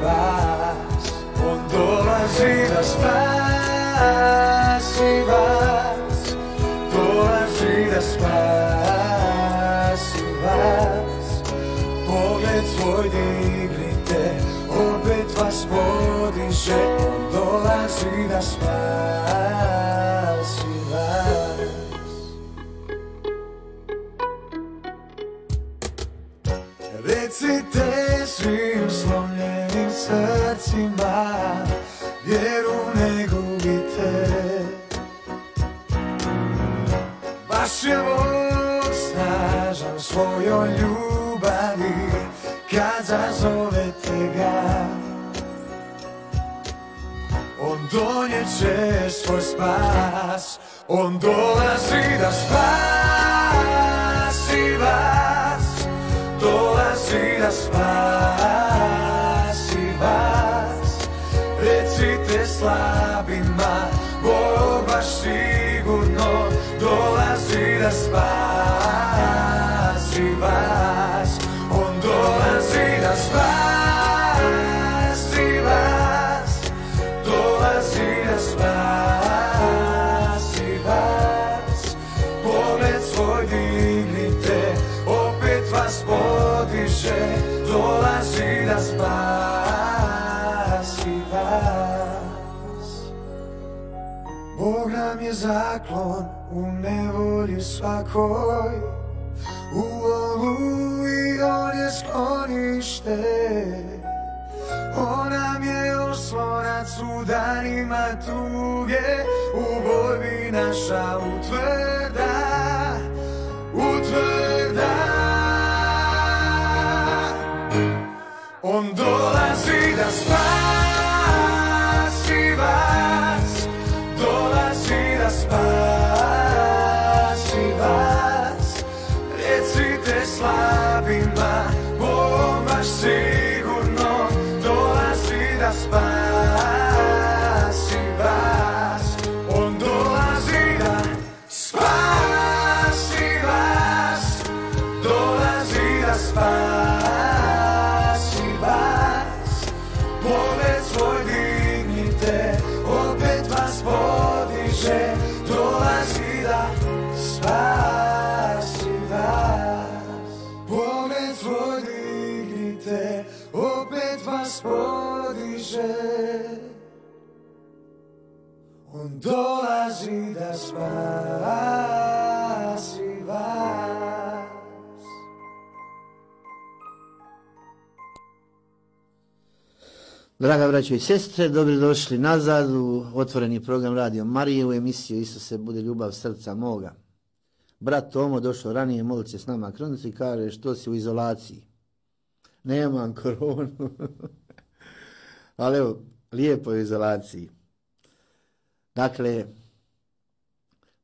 Speaker 2: vas. On dolazi da spasi vas, dolazi da spasi vas. Pogled svoj dignite, opet vas podiže, on dolazi da spasi vas. Recite svim slomljenim srcima, vjeru ne gubite. Baš je Bog snažan svojoj ljubavi kad zazovete ga. On donijeće svoj spas, on dolazi da spasi vas, dolazi da spasi vas. Recite slabima, Bog vaš sigurno dolazi da spasi vas. On dolazi da spasi vas, dolazi da spasi vas. Pogled svoj dignite, opet vas podiže, dolazi da spasi vas. Bog nam je zaklon u nevolji svakoj, u oluji on je sklonište. On nam je oslonac u danima tuge, u borbi naša utvrda, utvrda. On dolazi da spasi vas, dolazi da spasi vas. Recite slabima, Bog vaš sigurno dolazi da spasi vas. On dolazi da spasi vas, dolazi da spasi vas. Pogled svoj dignite, opet vas podiže, dolazi da spasi vas. Pogled svoj dignite, opet vas podiže, on dolazi da spasi vas.
Speaker 3: Draga braćo i sestre, dobrodošli nazad u otvoreni program Radio Marije u emisiju Isuse bude ljubav srca moga. Brat Tomo došao ranije, molit se s nama kronici i kaže što si u izolaciji. Nemam koronu. Ali evo, lijepo je u izolaciji. Dakle,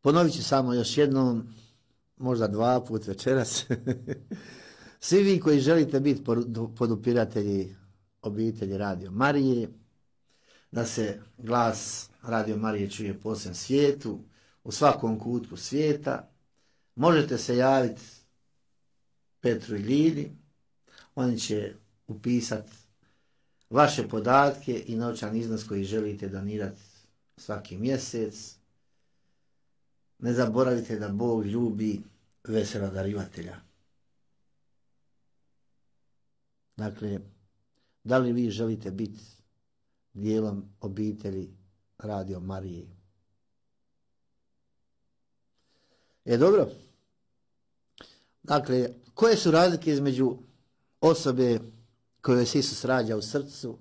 Speaker 3: ponovit ću samo još jednom, možda 2 puta večeras. Svi vi koji želite biti podupiratelji obitelji Radio Marije, da se glas Radio Marije čuje po svem svijetu, u svakom kutku svijeta, možete se javiti Petru i Ljidi, oni će upisati vaše podatke i novčani iznos koji želite donirati svaki mjesec. Ne zaboravite da Bog ljubi vesela darivatelja. Dakle, da li vi želite biti dijelom obitelji Radio Marije? Dobro. Dakle, koje su razlike između osobe kojoj se Isus rađa u srcu,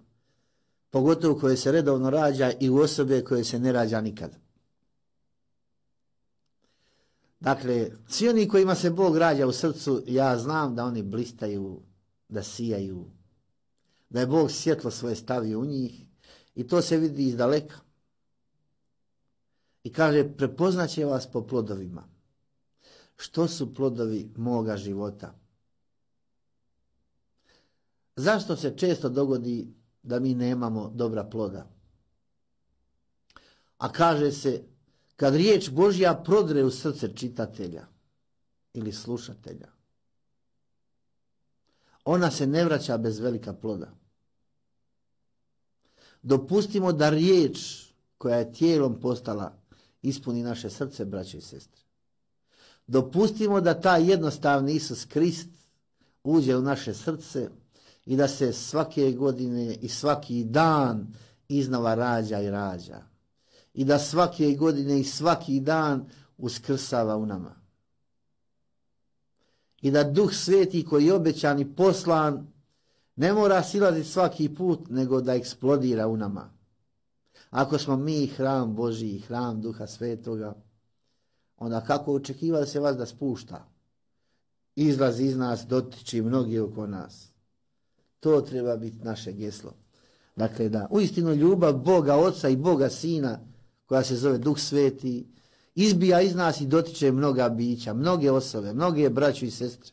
Speaker 3: pogotovo koje se redovno rađa, i u osobe koje se ne rađa nikad? Dakle, svi oni kojima se Bog rađa u srcu, ja znam da oni blistaju, da sijaju, da je Bog svjetlo svoje stavio u njih i to se vidi iz daleka. I kaže, prepoznaće vas po plodovima. Što su plodovi moga života? Zašto se često dogodi da mi nemamo dobra ploda? A kaže se, kad riječ Božja prodre u srce čitatelja ili slušatelja, ona se ne vraća bez velika ploda. Dopustimo da riječ koja je tijelom postala ispuni naše srce, braće i sestre. Dopustimo da taj jednostavni Isus Krist uđe u naše srce i da se svake godine i svaki dan iznova rađa i rađa. I da svake godine i svaki dan uskrsava u nama. I da Duh Sveti koji je obećan i poslan ne mora silaziti svaki put, nego da eksplodira u nama. Ako smo mi hram Božji, hram Duha Svetoga, onda kako očekiva se vas da spušta? Izlazi iz nas, dotiči mnogi oko nas. To treba biti naše geslo. Dakle, da uistinu ljubav Boga Oca i Boga Sina, koja se zove Duh Sveti, izbija iz nas i dotiče mnoga bića, mnoge osobe, mnoge braće i sestre.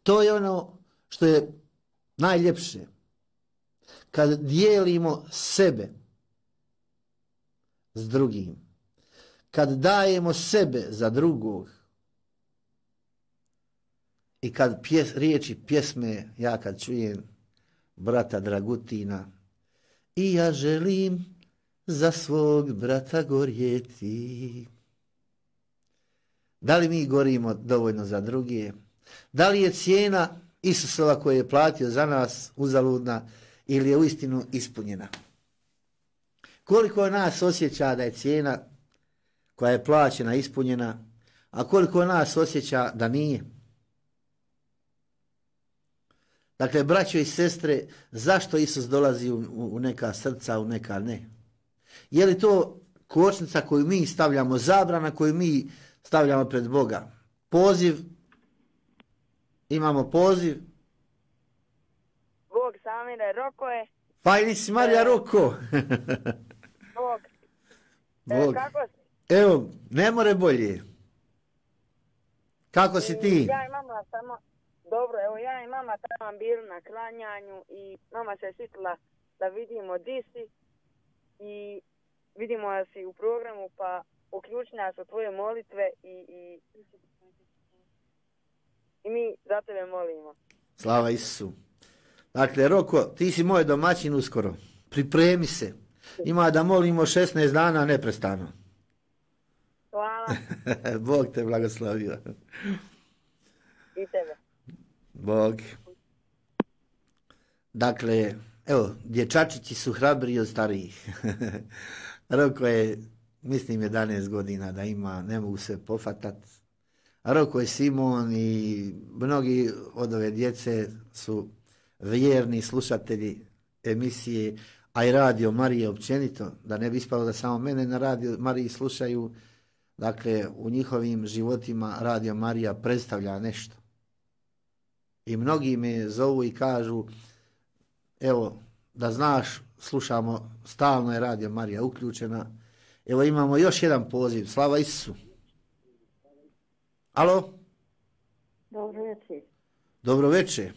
Speaker 3: To je ono što je najljepše. Kad dijelimo sebe s drugim, kad dajemo sebe za drugog i kad riječi pjesme, ja kad čujem brata Dragutina, i ja želim za svog brata gorjeti. Da li mi gorimo dovoljno za druge? Da li je cijena Isusova koju je platio za nas uzaludna ili je uistinu ispunjena? Koliko nas osjeća da je cijena koja je plaćena ispunjena, a koliko nas osjeća da nije? Dakle, braćo i sestre, zašto Isus dolazi u neka srca, u neka ne? Je li to kočnica koju mi stavljamo, zabrana koju mi stavljamo pred Boga? Poziv, imamo poziv.
Speaker 5: Bog Samire, Roko je.
Speaker 3: Fajni si Marija Roko.
Speaker 5: Bog.
Speaker 3: Bog.
Speaker 5: Kako si?
Speaker 3: Evo, ne more bolje. Kako si ti?
Speaker 5: Ja i mama samo, dobro, evo ja i mama tamo bili na klanjanju i mama se sitila da vidimo di si i vidimo da si u programu, pa uključi nas u tvoje molitve i mi za tebe molimo.
Speaker 3: Slava Isusu. Dakle, Roko, ti si moj domaćin uskoro. Pripremi se. Ima da molimo 16 dana neprestano.
Speaker 5: Hvala.
Speaker 3: Bog te blagoslovio.
Speaker 5: I tebe.
Speaker 3: Bog. Dakle, evo, dječačići su hrabriji od starijih. Roko je, mislim, 11 godina da ima, ne mogu se pofatat. Roko je Simon i mnogi od ove djece su vjerni slušatelji emisije, a i Radio Marije općenito, da ne bi ispalo da samo mene na Radio Mariji slušaju. Dakle, u njihovim životima Radio Marija predstavlja nešto. I mnogi me zovu i kažu, evo, da znaš, slušamo, stalno je Radio Marija uključena. Evo imamo još jedan poziv, slava Isusu. Alo?
Speaker 6: Dobro večer.
Speaker 3: Dobro večer.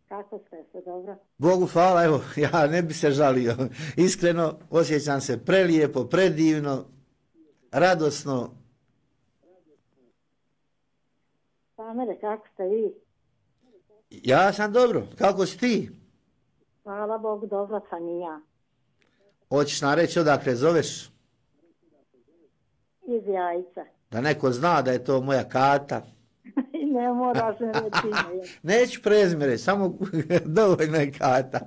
Speaker 6: Kako ste se, dobro?
Speaker 3: Bogu hvala, evo, ja ne bi se žalio. Iskreno, osjećam se prelijepo, predivno, radosno.
Speaker 6: Samire, kako ste vi?
Speaker 3: Ja sam dobro, kako si ti?
Speaker 6: Hvala Bogu, dobro sam i ja.
Speaker 3: Hoćeš nam reći odakle zoveš?
Speaker 6: Iz Jajca.
Speaker 3: Da neko zna da je to moja Kata.
Speaker 6: I ne moraš mi reći ime.
Speaker 3: Neću prezime reći, samo dovoljno je Kata.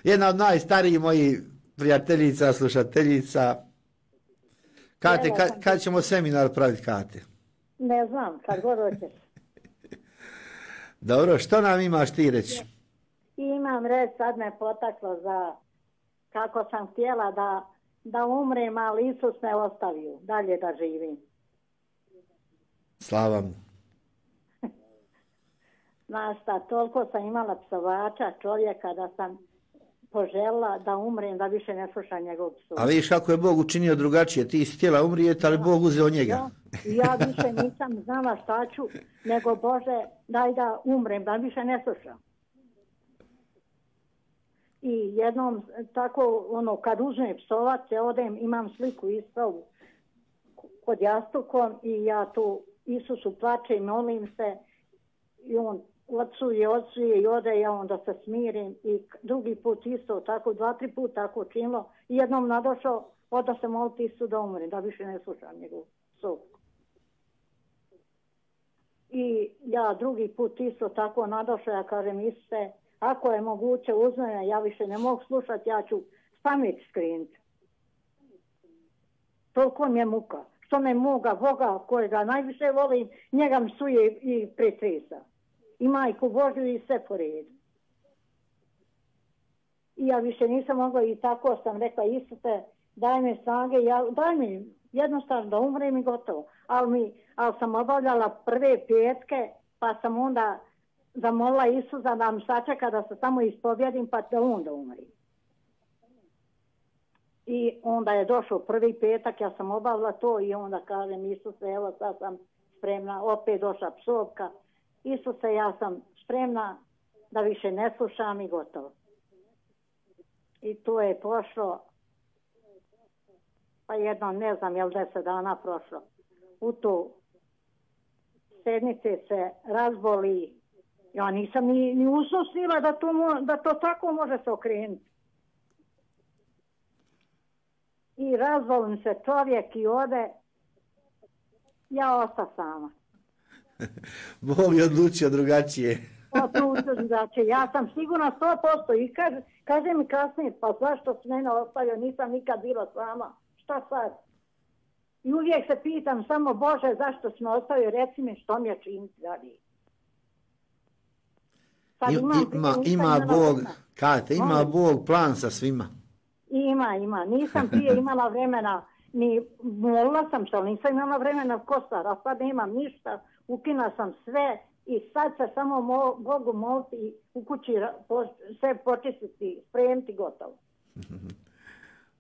Speaker 3: Jedna od najstarijih mojih prijateljica, slušateljica. Kate, kad ćemo seminar praviti, Kate?
Speaker 6: Ne znam, kad god hoćeš.
Speaker 3: Dobro, što nam imaš ti reći?
Speaker 6: Imam reći, sad me potaklo za kako sam htjela da umrem, ali Isus me ostavio, dalje da živim.
Speaker 3: Slava mu.
Speaker 6: Znaš šta, toliko sam imala psovača čovjeka da sam požela da umrem, da više ne slušam njegov psov.
Speaker 3: A vidiš kako je Bog učinio drugačije, ti si htjela umrijeti, ali Bog uzeo njega.
Speaker 6: Ja više nisam znala šta ću, nego Bože, daj da umrem, da više ne slušam. I jednom tako, kad uzmem psovac, odem, imam sliku Isusovu kod jastukom i ja tu Isusu plače i molim se i on odsuje i ode, ja onda se smirim i drugi put isto, tako 2-3 puta tako činilo i jednom nadošao, oda se moliti Isu da umre, da više ne slušam njegov psov. I ja drugi put isto tako nadošao, ja kažem Isuse, ako je moguće uz mene, ja više ne mogu slušati, ja ću pamet skrenuti. Toliko mi je muka. Što me moga Boga kojega najviše volim, njega mi suje i pretresa. I majku Božju i sve po redu. I ja više nisam mogla i tako sam rekla Isuse, daj mi snage, daj mi jednostavno da umrem i gotovo. Ali sam obavljala prve petke, pa sam onda zamolila Isusa da mi sačeka da se samo ispovjedim pa da onda umri. I onda je došao prvi petak, ja sam obavila to i onda kažem Isuse, evo sad sam spremna, opet došla psovka. Isuse, ja sam spremna da više ne slušam i gotovo. I to je prošlo, pa jedno, ne znam, je li 10 dana prošlo. U tu sednice se razboli. Ja nisam ni usnosila da to tako može se okrenuti. I razvolim se čovjek i ode, ja osta sama.
Speaker 3: Bog je odlučio drugačije.
Speaker 6: Odlučio drugačije. Ja sam sigurna 100% i kaže mi kasnije, pa zašto si mene ostavio, nisam nikad bila sama. Šta sad? I uvijek se pitam samo, Bože, zašto si me ostavio, reci mi što mi je činiti dalje.
Speaker 3: Ima Bog plan sa svima.
Speaker 6: Ima. Nisam prije imala vremena, ni molila sam se, ali nisam imala vremena kostar, a sad nemam ništa, ukina sam sve i sad se samo Bogu moliti i u kući sve počistiti, spremiti, gotovo.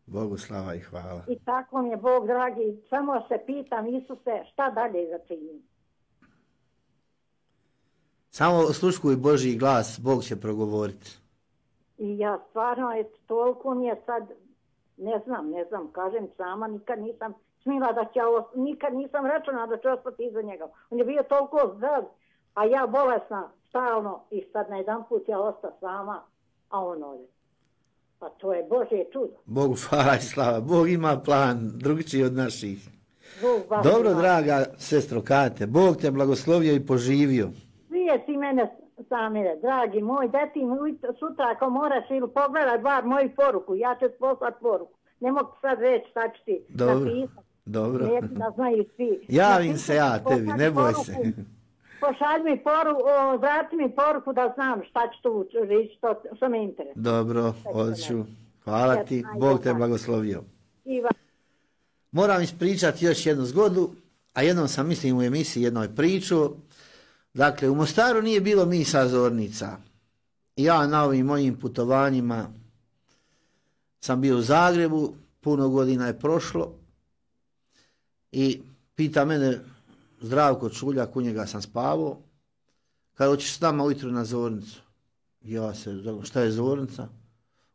Speaker 3: Bogu slava i hvala.
Speaker 6: I tako mi je Bog dragi, samo se pitam Isuse šta dalje da činim.
Speaker 3: Samo osluškuj Božji glas, Bog će progovoriti.
Speaker 6: I ja stvarno, toliko mi je sad, ne znam, kažem sama, nikad nisam smila da će nikad nisam računala da ću ostati iza njega. On je bio toliko zdrav, a ja bolesna stalno i sad na jedan put ja ostala sama, a on ode. Pa to je Božje čudo.
Speaker 3: Bogu hvala i slava, Bog ima plan drugačiji od naših. Dobro, draga sestro Kate, Bog te blagoslovio i poživio.
Speaker 6: Svije ti mene, Samire, dragi moj, deti sutra ako moraš ili pogledaj bar moju poruku, ja ću poslati poruku. Ne mogu sad reći šta ću ti napisati.
Speaker 3: Dobro.
Speaker 6: Neću da znaju svi.
Speaker 3: Javim se ja tebi, ne boj se.
Speaker 6: Pošalj mi poruku, vrati mi poruku da znam šta ću tu reći, što me interesuje.
Speaker 3: Dobro, odću. Hvala ti, Bog te blagoslovio. Moram ispričati još jednu zgodu, a jednom sam mislim u emisiji jednoj priču. Dakle, u Mostaru nije bilo misa zornica. Ja na ovim mojim putovanjima sam bio u Zagrebu, puno godina je prošlo i pita mene Zdravko Čuljak, u njega sam spavao, kada hoćeš s nama ujutro na zornicu. Ja se, šta je zornica?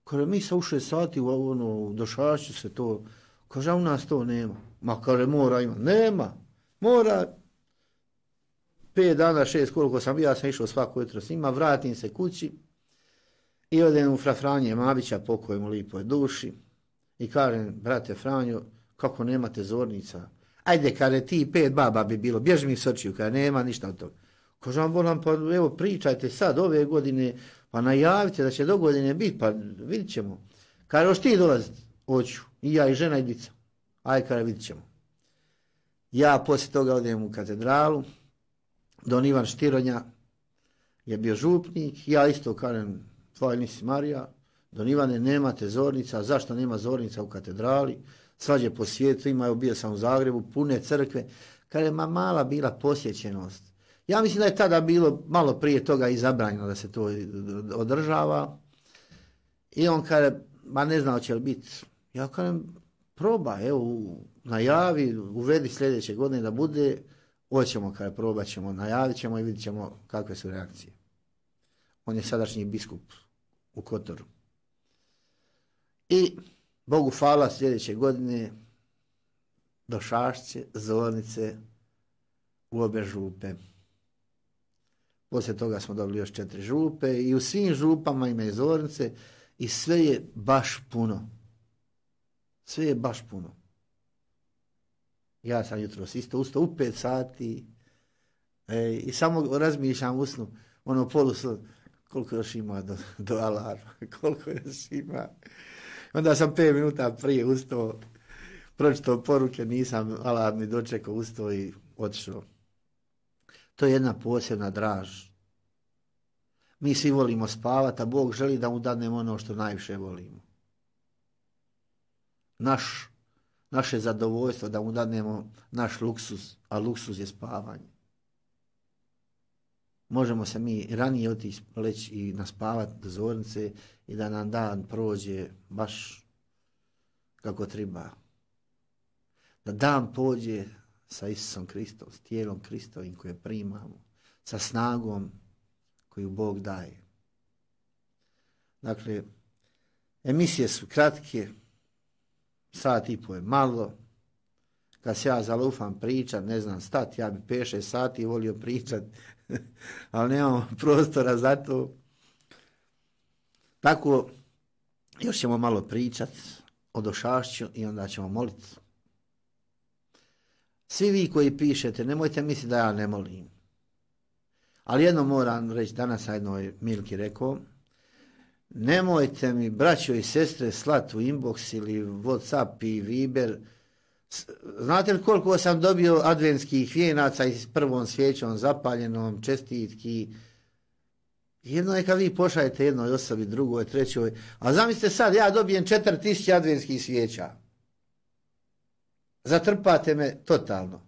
Speaker 3: Kaže, mi sa u 6 sati u Došašću se to, kaže, u nas to nema. Ma kaže, mora ima. Nema, mora. 5 dana, 6 koliko sam bio, ja sam išao svako jutro s njima, vratim se kući i odem u fra Franje Mabića, pokoj mu lipoj duši i kažem, brate Franjo, kako nemate zornica? Ajde, kaže, ti 5 baba bi bilo, bježi mi s očiju, kaže, nema ništa od toga. Kaže, bolam, pa evo, pričajte sad ove godine, pa najavite da će do godine biti, pa vidit ćemo. Kaže, hoš ti dolaziti? Hoću, i ja i žena i dica. Ajde, kaže, vidit ćemo. Ja poslije toga odem u katedralu, Don Ivan Štironja je bio župnik, ja isto kažem, tvoja nisi Marija, Don Ivane, nemate zornica, zašto nema zornica u katedrali, svađe po svijetu imaju, bio sam u Zagrebu, pune crkve, kaže, ma mala bila posjećenost. Ja mislim da je tada bilo malo prije toga i zabranjeno da se to održava. I on kaže, ma ne znam hoće li biti. Ja kažem, probaj, evo, najavi, uvedi sljedeće godine da bude, hoćemo, kada probat ćemo, najavit ćemo i vidit ćemo kakve su reakcije. On je sadašnji biskup u Kotoru. I Bogu hvala, sljedeće godine do Šašće, Zornice, u obe župe. Poslije toga smo dobili još 4 župe i u svim župama ima i Zornice i sve je baš puno. Sve je baš puno. Ja sam jutros isto ustao u 5 sati i samo razmišljam u snu, ono polusno, koliko još ima do alarma, koliko još ima. Onda sam 5 minuta prije ustao, pročitao poruke, nisam alarmni dočekao, ustao i otišao. To je jedna posebna draž. Mi svi volimo spavati, a Bog želi da mu dadnemo ono što najviše volimo. Naše zadovoljstvo, da mu dadnemo naš luksuz, a luksuz je spavanje. Možemo se mi ranije otići leći i naspavati do Zornice i da nam dan prođe baš kako treba. Da dan pođe sa Isusom Kristom, s tijelom Kristovim koje primamo, sa snagom koju Bog daje. Dakle, emisije su kratke, 1,5 sata je malo. Kad se ja zalufam pričat, ne znam stati, ja bi 5-6 sati volio pričat, ali nemamo prostora za to. Tako, još ćemo malo pričat o Došašću i onda ćemo moliti. Svi vi koji pišete, nemojte misliti da ja ne molim. Ali jedno moram reći, danas sam jednoj Milki rekao, nemojte mi, braćo i sestre, slati u inbox ili Whatsapp i Viber. Znate li koliko sam dobio adventskih vijenaca i s prvom svijećom zapaljenom, čestitki. Jedno je kad vi pošaljete jednoj osobi, drugoj, trećoj. A zamislite sad, ja dobijem 4000 adventskih svijeća. Zatrpate me totalno.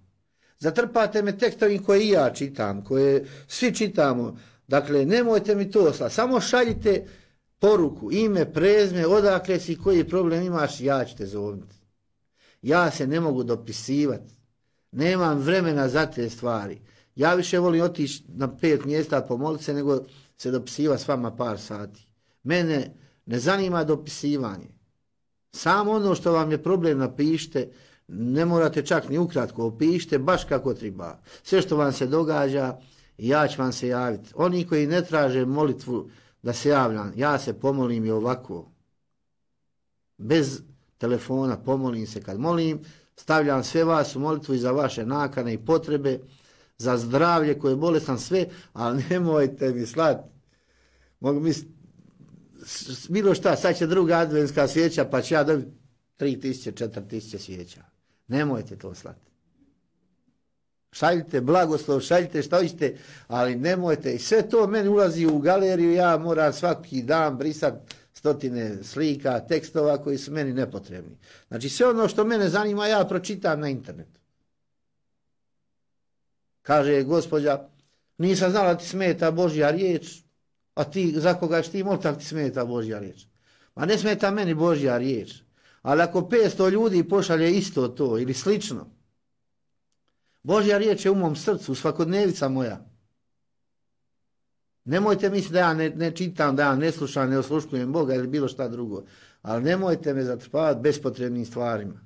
Speaker 3: Zatrpate me tekstovim koje i ja čitam, koje svi čitamo. Dakle, nemojte mi to slati. Samo šaljite poruku, ime, prezme, odakle si, koji problem imaš, ja ću te zovniti. Ja se ne mogu dopisivati. Nemam vremena za te stvari. Ja više volim otići na 5 mjesta pomoliti se, nego se dopisiva s vama par sati. Mene ne zanima dopisivanje. Samo ono što vam je problem napišite, ne morate čak ni ukratko, opišite baš kako treba. Sve što vam se događa, ja ću vam se javiti. Oni koji ne traže molitvu da se javljam, ja se pomolim i ovako. Bez telefona pomolim se kad molim, stavljam sve vas u molitvu i za vaše nakane i potrebe, za zdravlje koje je bolestan sve, ali nemojte mi slati. Mogu misliti, bilo šta, sad će druga adventska svijeća, pa će ja dobiti 3000, 4000 svijeća. Nemojte to slati. Šaljite blagoslov, šaljite šta hoćete, ali nemojte. I sve to meni ulazi u galeriju, ja moram svaki dan brisati 100 slika, tekstova koji su meni nepotrebni. Znači sve ono što mene zanima ja pročitam na internetu. Kaže gospođa, nisam znala ti smeta Božja riječ, a ti za koga ćeš ti moliti ako ti smeta Božja riječ. Ma ne smeta meni Božja riječ. Ali ako 500 ljudi pošalje isto to ili slično, Božja riječ je u mom srcu, svakodnevica moja. Nemojte misliti da ja ne čitam, da ja ne slušam, ne osluškujem Boga ili bilo šta drugo. Ali nemojte me zatrpavati bespotrebnim stvarima.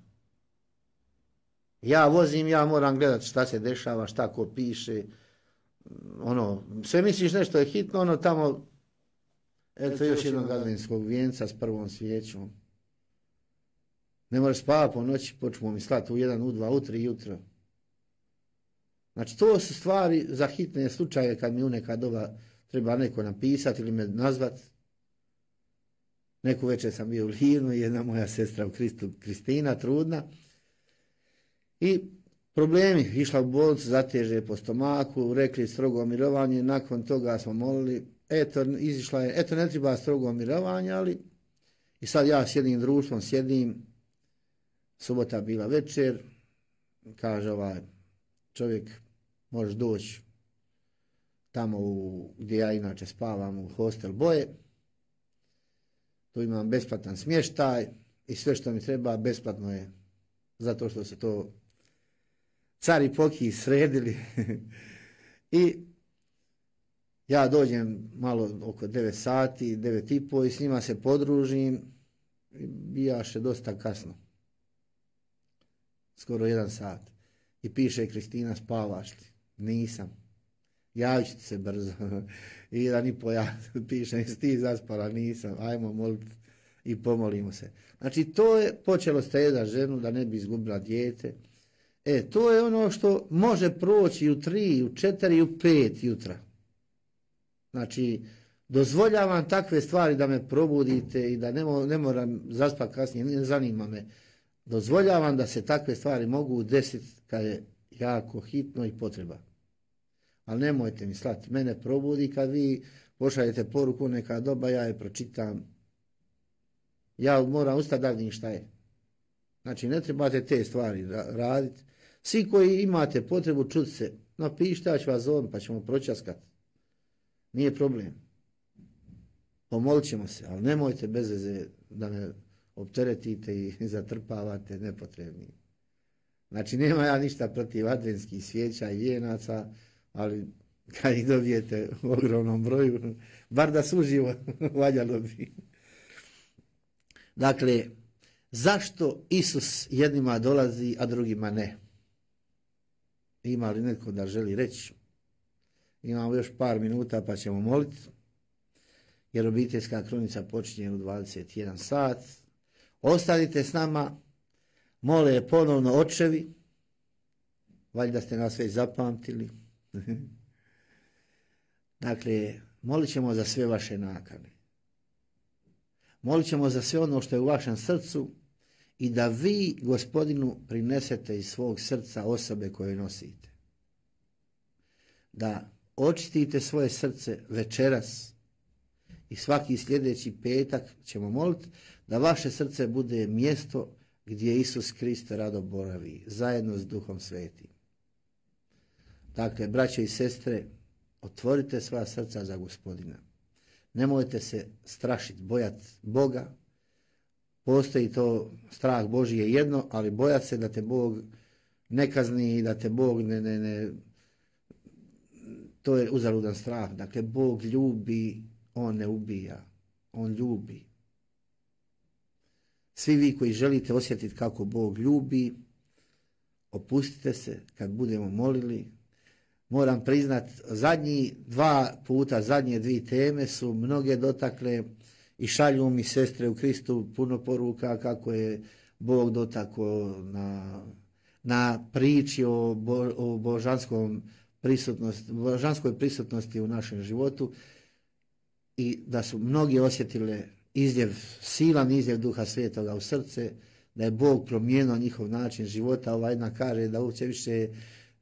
Speaker 3: Ja vozim, ja moram gledati šta se dešava, šta ko piše. Ono, sve misliš nešto je hitno, ono tamo, eto još jednog adventskog vijenca s prvom svijećom. Ne možeš spavati po noći, počnemo mi slati u 1, u 2, u 3 jutro. Znači to su stvari za hitne slučaje kad mi u neka doba treba neko napisati ili me nazvati. Neku večer sam bio u Livnu i jedna moja sestra u Kristu, Kristina, trudna. I problemi, išla u bolnicu, zateže po stomaku, rekli strogo mirovanje, nakon toga smo molili, eto, izišla je, eto ne treba strogo mirovanje, ali i sad ja s jednim društvom sjedim, subota bila večer, kaže ovaj čovjek, možeš doći tamo gdje ja inače spavam u hostel Boje. Tu imam besplatan smještaj i sve što mi treba besplatno je, zato što se to car i poki sredili. I ja dođem malo oko 9 sati, 9:30 i s njima se podružim i bijaše dosta kasno. Skoro 1 sat. I piše Kristina, spavaš li? Nisam. Javit ću ti se brzo. I 1,5 ja pišem, jesi ti zaspala? Nisam. Ajmo moliti i pomolimo se. Znači to je počelo stezati ženu da ne bi izgubila dijete. To je ono što može proći u 3, u 4, u 5 jutra. Znači, dozvoljavam takve stvari da me probudite i da ne moram zaspati kasnije, ne zanima me. Dozvoljavam da se takve stvari mogu desiti kad je jako hitno i potreba. Ali nemojte mi slati, mene probudi kad vi pošaljete poruku neka doba, ja je pročitam. Ja moram ustati da vidim šta je. Znači, ne trebate te stvari raditi. Svi koji imate potrebu čuti se, napišite, ja ću vas zovem pa ćemo pročaskati. Nije problem. Pomolit ćemo se, ali nemojte bez veze da me opteretite i zatrpavate nepotrebni. Znači, nema ja ništa protiv adventskih svijeća i vijenaca, ali kad ih dobijete u ogromnom broju, bar da suživo valjalo bi. Dakle, zašto Isus jednima dolazi, a drugima ne? Ima li netko da želi reći? Imamo još par minuta pa ćemo moliti, jer obiteljska kronica počinje u 21 sat. Ostanite s nama, mole ponovno očevi, valjda ste nas već zapamtili. Dakle, molit ćemo za sve vaše nakane. Molit ćemo za sve ono što je u vašem srcu i da vi Gospodinu prinesete iz svog srca osobe koje nosite. Da očistite svoje srce večeras i svaki sljedeći petak ćemo moliti da vaše srce bude mjesto gdje Isus Krist rado boravi, zajedno s Duhom Svetim. Dakle, braćo i sestre, otvorite svoja srca za Gospodina. Nemojte se strašiti, bojati Boga. Postoji to, strah Božji je jedno, ali bojati se da te Bog ne kazni i da te Bog to je uzaludan strah. Dakle, Bog ljubi, On ne ubija, On ljubi. Svi vi koji želite osjetiti kako Bog ljubi, opustite se kad budemo molili. Moram priznat, zadnje 2 teme su mnoge dotakle i šalju mi sestre u Kristu puno poruka kako je Bog dotakao na priči o božanskoj prisutnosti u našem životu i da su mnogi osjetile silan izljev Duha Svetoga u srce, da je Bog promijenio njihov način života. Ova jedna kaže da uopće više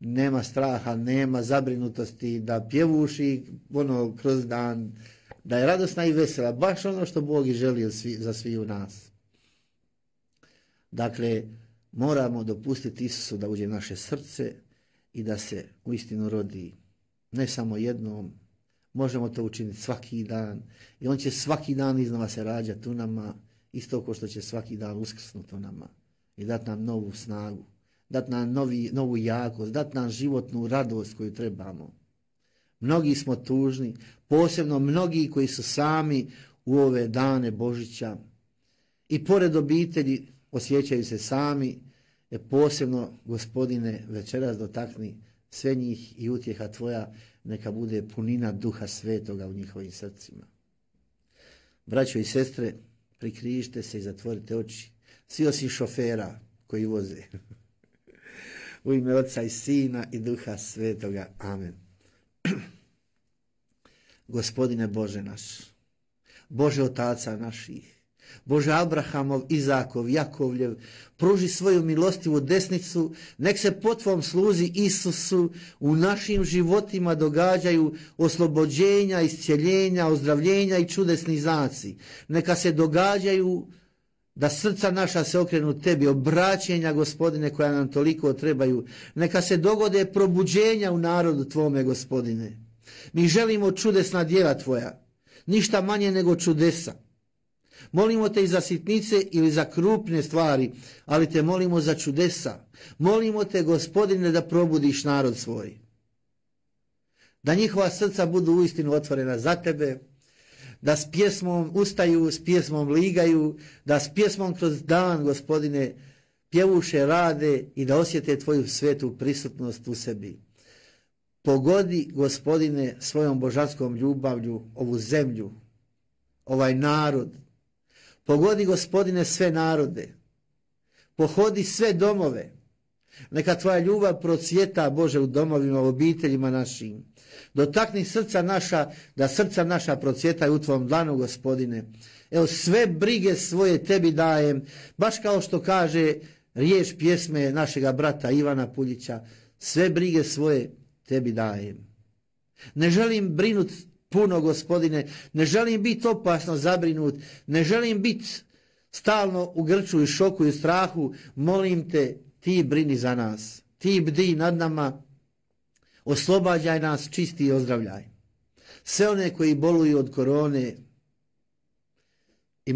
Speaker 3: nema straha, nema zabrinutosti, da pjevuši kroz dan, da je radosna i vesela, baš ono što Bog i želi za svi u nas. Dakle, moramo dopustiti Isusu da uđe u naše srce i da se uistinu rodi ne samo jednom, možemo to učiniti svaki dan i on će svaki dan iznova se rađati u nama, isto kao što će svaki dan uskrsnuti u nama i dati nam novu snagu, dati nam novu jakost, dati nam životnu radost koju trebamo. Mnogi smo tužni, posebno mnogi koji su sami u ove dane Božića i pored obitelji osjećaju se sami, posebno Gospodine večeras dotakni sve njih i utjeha Tvoja neka bude punina Duha Svetoga u njihovim srcima. Braćo i sestre, prikrižite se i zatvorite oči, svi osim šofera koji voze. U ime Otca i Sina i Duha Svetoga. Amen. Gospodine Bože naš, Bože otaca naših, Bože Abrahamov, Izakov, Jakovljev, pruži svoju milostivu desnicu, nek se po Tvom sluzi Isusu u našim životima događaju oslobođenja, iscjeljenja, ozdravljenja i čudesni znaci. Neka se događaju da srca naša se okrenu Tebi, obraćenja, Gospodine, koja nam toliko trebaju. Neka se dogode probuđenja u narodu Tvome, Gospodine. Mi želimo čudesna djela tvoja, ništa manje nego čudesa. Molimo te i za sitnice ili za krupne stvari, ali te molimo za čudesa. Molimo te, Gospodine, da probudiš narod svoj. Da njihova srca budu uistinu otvorena za tebe, da s pjesmom ustaju, s pjesmom ligaju, da s pjesmom kroz dan, Gospodine, pjevuše rade i da osjete tvoju svetu prisutnost u sebi. Pogodi, Gospodine, svojom božanskom ljubavlju ovu zemlju, ovaj narod. Pogodi, Gospodine, sve narode. Pohodi sve domove. Neka tvoja ljubav procvjeta, Bože, u domovima, u obiteljima našim. Dotakni srca naša, da srca naša procvjetaju u tvom dlanu, Gospodine. Evo, sve brige svoje tebi dajem, baš kao što kaže riječ pjesme našega brata Ivana Puljića, sve brige svoje tebi dajem. Ne želim brinut puno, Gospodine, ne želim biti opasno zabrinut, ne želim biti stalno u grču i šoku i strahu. Molim te, ti brini za nas, ti bdi nad nama, oslobađaj nas, čisti i ozdravljaj. Sve one koji boluju od korone i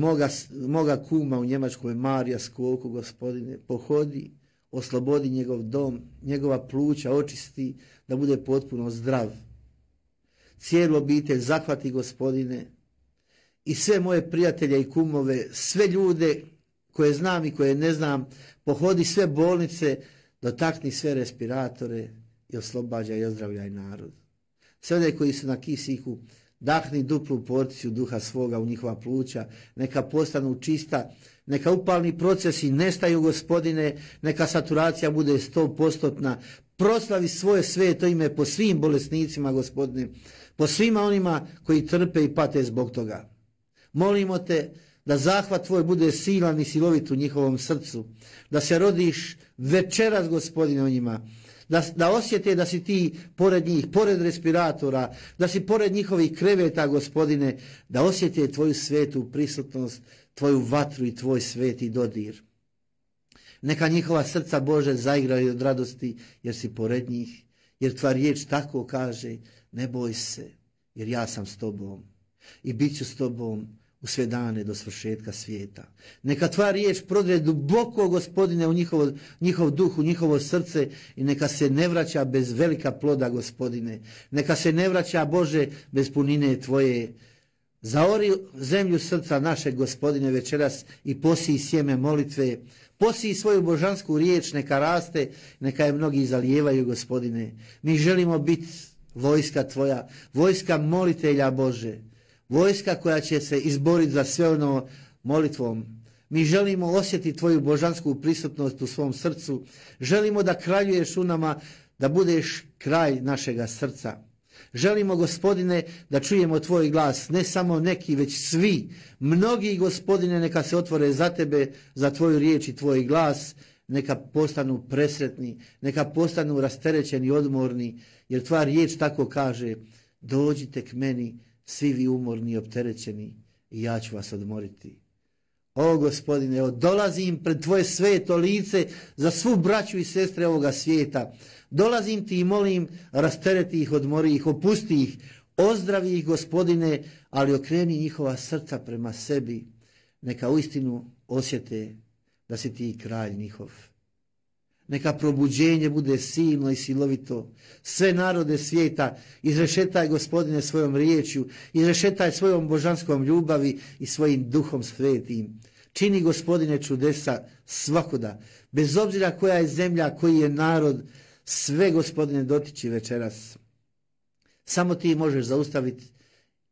Speaker 3: moga kuma u Njemačkoj, Marija Skoku, Gospodine, pohodi, oslobodi njegov dom, njegova pluća očisti, da bude potpuno zdrav. Cijelu obitelj zahvati, Gospodine, i sve moje prijatelje i kumove, sve ljude koje znam i koje ne znam, pohodi sve bolnice, dotakni sve respiratore i oslobađaj i ozdravljaj narod. Sve one koji su na kisiku, dahni duplu porciju duha svoga u njihova pluća, neka postanu čista, neka upalni procesi nestaju, Gospodine, neka saturacija bude 100%, proslavi svoje sveto ime po svim bolesnicima, Gospodine, po svima onima koji trpe i pate zbog toga. Molimo te da zahvat tvoj bude silan i silovit u njihovom srcu, da se rodiš večeras, Gospodine, o njima, da osjete da si ti pored njih, pored respiratora, da si pored njihovih kreveta, Gospodine, da osjete tvoju svetu prisutnost, tvoju vatru i tvoj sveti dodir. Neka njihova srca, Bože, zaigraju od radosti jer si pored njih, jer tvoja riječ tako kaže, ne boj se, jer ja sam s tobom i bit ću s tobom u sve dane do svršetka svijeta. Neka tvoja riječ prodre duboko, Gospodine, u njihov duh, u njihovo srce i neka se ne vraća bez velika ploda, Gospodine. Neka se ne vraća, Bože, bez punine tvoje. Zaori zemlju srca našeg, Gospodine, večeras i posij sjeme molitve. Posij svoju božansku riječ, neka raste, neka je mnogi zalijevaju, Gospodine. Mi želimo biti vojska tvoja, vojska molitelja, Bože. Vojska koja će se izboriti za sve ono molitvom. Mi želimo osjetiti tvoju božansku prisutnost u svom srcu. Želimo da kraljuješ u nama, da budeš kralj našega srca. Želimo, Gospodine, da čujemo tvoj glas, ne samo neki, već svi. Mnogi, Gospodine, neka se otvore za tebe, za tvoju riječ i tvoj glas, neka postanu presretni, neka postanu rasterećeni, odmorni, jer tvoja riječ tako kaže, dođite k meni, svi vi umorni i opterećeni, i ja ću vas odmoriti. O, Gospodine, evo, dolazim pred tvoje sveto lice za svu braću i sestre ovoga svijeta. Dolazim ti i molim, rastereti ih, odmori ih, opusti ih, ozdravi ih, Gospodine, ali okreni njihova srca prema sebi. Neka uistinu osjete da si ti kralj njihov. Neka probuđenje bude silno i silovito. Sve narode svijeta izrešetaj, Gospodine, svojom riječju, izrešetaj svojom božanskom ljubavi i svojim duhom svetim. Čini, Gospodine, čudesa svakuda, bez obzira koja je zemlja, koji je narod, sve, Gospodine, dotiči večeras. Samo ti možeš zaustaviti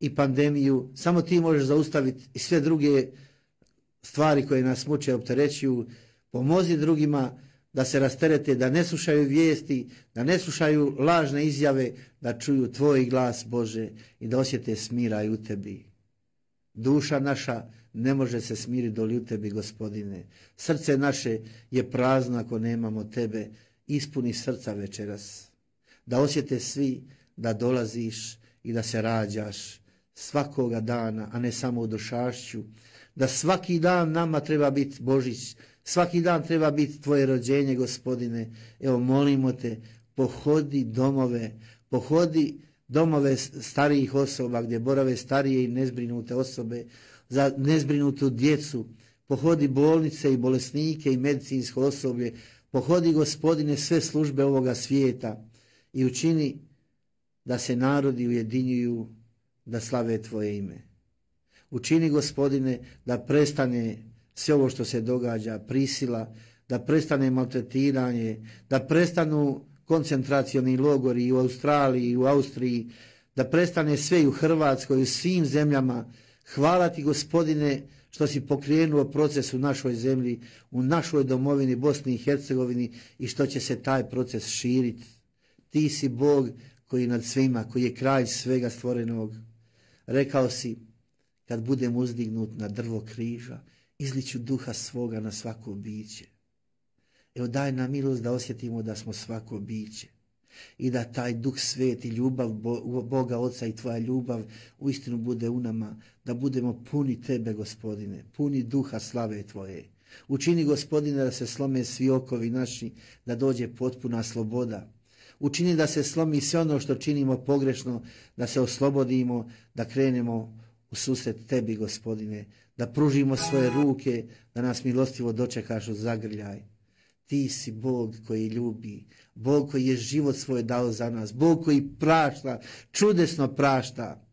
Speaker 3: i pandemiju, samo ti možeš zaustaviti i sve druge stvari koje nas muče, opterećuju. Pomozi drugima da se rasterete, da ne slušaju vijesti, da ne slušaju lažne izjave, da čuju tvoj glas, Bože, i da osjete smiraj u tebi. Duša naša ne može se smiriti doli u tebi, Gospodine. Srce naše je prazno ako nemamo tebe. Ispuni srca večeras. Da osjete svi da dolaziš i da se rađaš svakoga dana, a ne samo u došašću. Da svaki dan nama treba biti Božić, svaki dan treba biti tvoje rođenje, Gospodine. Evo, molimo te, pohodi domove, pohodi domove starijih osoba gdje borave starije i nezbrinute osobe, za nezbrinutu djecu. Pohodi bolnice i bolesnike i medicinsko osoblje. Pohodi, Gospodine, sve službe ovoga svijeta i učini da se narodi ujedinjuju da slave Tvoje ime. Učini, Gospodine, da prestane sve ovo što se događa, prisila, da prestane maltretiranje, da prestanu koncentracioni logori i u Australiji i u Austriji, da prestane sve i u Hrvatskoj i u svim zemljama. Hvala Ti, Gospodine, što si pokrenuo proces u našoj zemlji, u našoj domovini Bosni i Hercegovini i što će se taj proces širiti. Ti si Bog koji je nad svima, koji je kralj svega stvorenog. Rekao si, kad budem uzdignut na drvo križa, izliću duha svoga na svako biće. Evo daj nam milost da osjetimo da smo svako biće i da taj duh sveti, ljubav Boga Oca i Tvoja ljubav uistinu bude u nama, da budemo puni Tebe, Gospodine, puni duha slave Tvoje. Učini, Gospodine, da se slome svi okovi naši, da dođe potpuna sloboda. Učini da se slomi sve ono što činimo pogrešno, da se oslobodimo, da krenemo u susret Tebi, Gospodine, da pružimo svoje ruke, da nas milostivo dočekaš u zagrljaj. Ti si Bog koji ljubi, Bog koji je život svoj dao za nas, Bog koji prašta, čudesno prašta.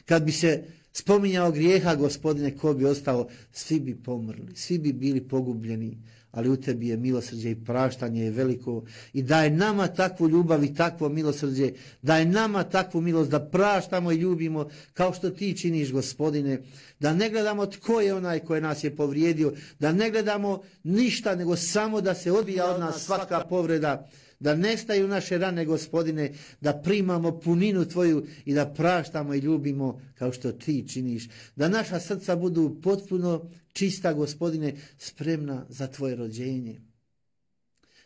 Speaker 3: Kad bi se spominjao grijeha, Gospodine, ko bi ostao, svi bi pomrli, svi bi bili pogubljeni, ali u Tebi je milosrđe i praštanje je veliko i daj nama takvu ljubav i takvo milosrđe, daj nama takvu milost da praštamo i ljubimo kao što Ti činiš, Gospodine, da ne gledamo tko je onaj koji nas je povrijedio, da ne gledamo ništa nego samo da se odbija od nas svaka povreda, da nestaju naše rane, Gospodine, da primamo puninu Tvoju i da praštamo i ljubimo kao što Ti činiš. Da naša srca budu potpuno čista, Gospodine, spremna za Tvoje rođenje.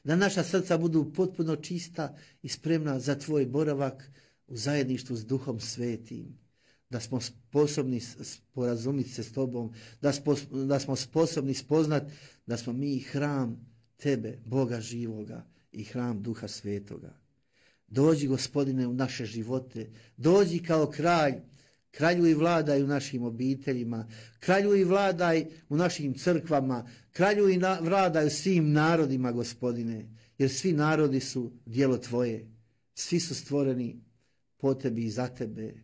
Speaker 3: Da naša srca budu potpuno čista i spremna za Tvoj boravak u zajedništvu s Duhom Svetim. Da smo sposobni sporazumiti se s Tobom, da smo sposobni spoznat da smo mi hram Tebe, Boga živoga, i hram Duha Svetoga. Dođi, Gospodine, u naše živote, dođi kao kralj, kraljuj i vladaj u našim obiteljima, kraljuj i vladaj u našim crkvama, kraljuj i vladaj u svim narodima, Gospodine, jer svi narodi su djelo Tvoje, svi su stvoreni po Tebi i za Tebe,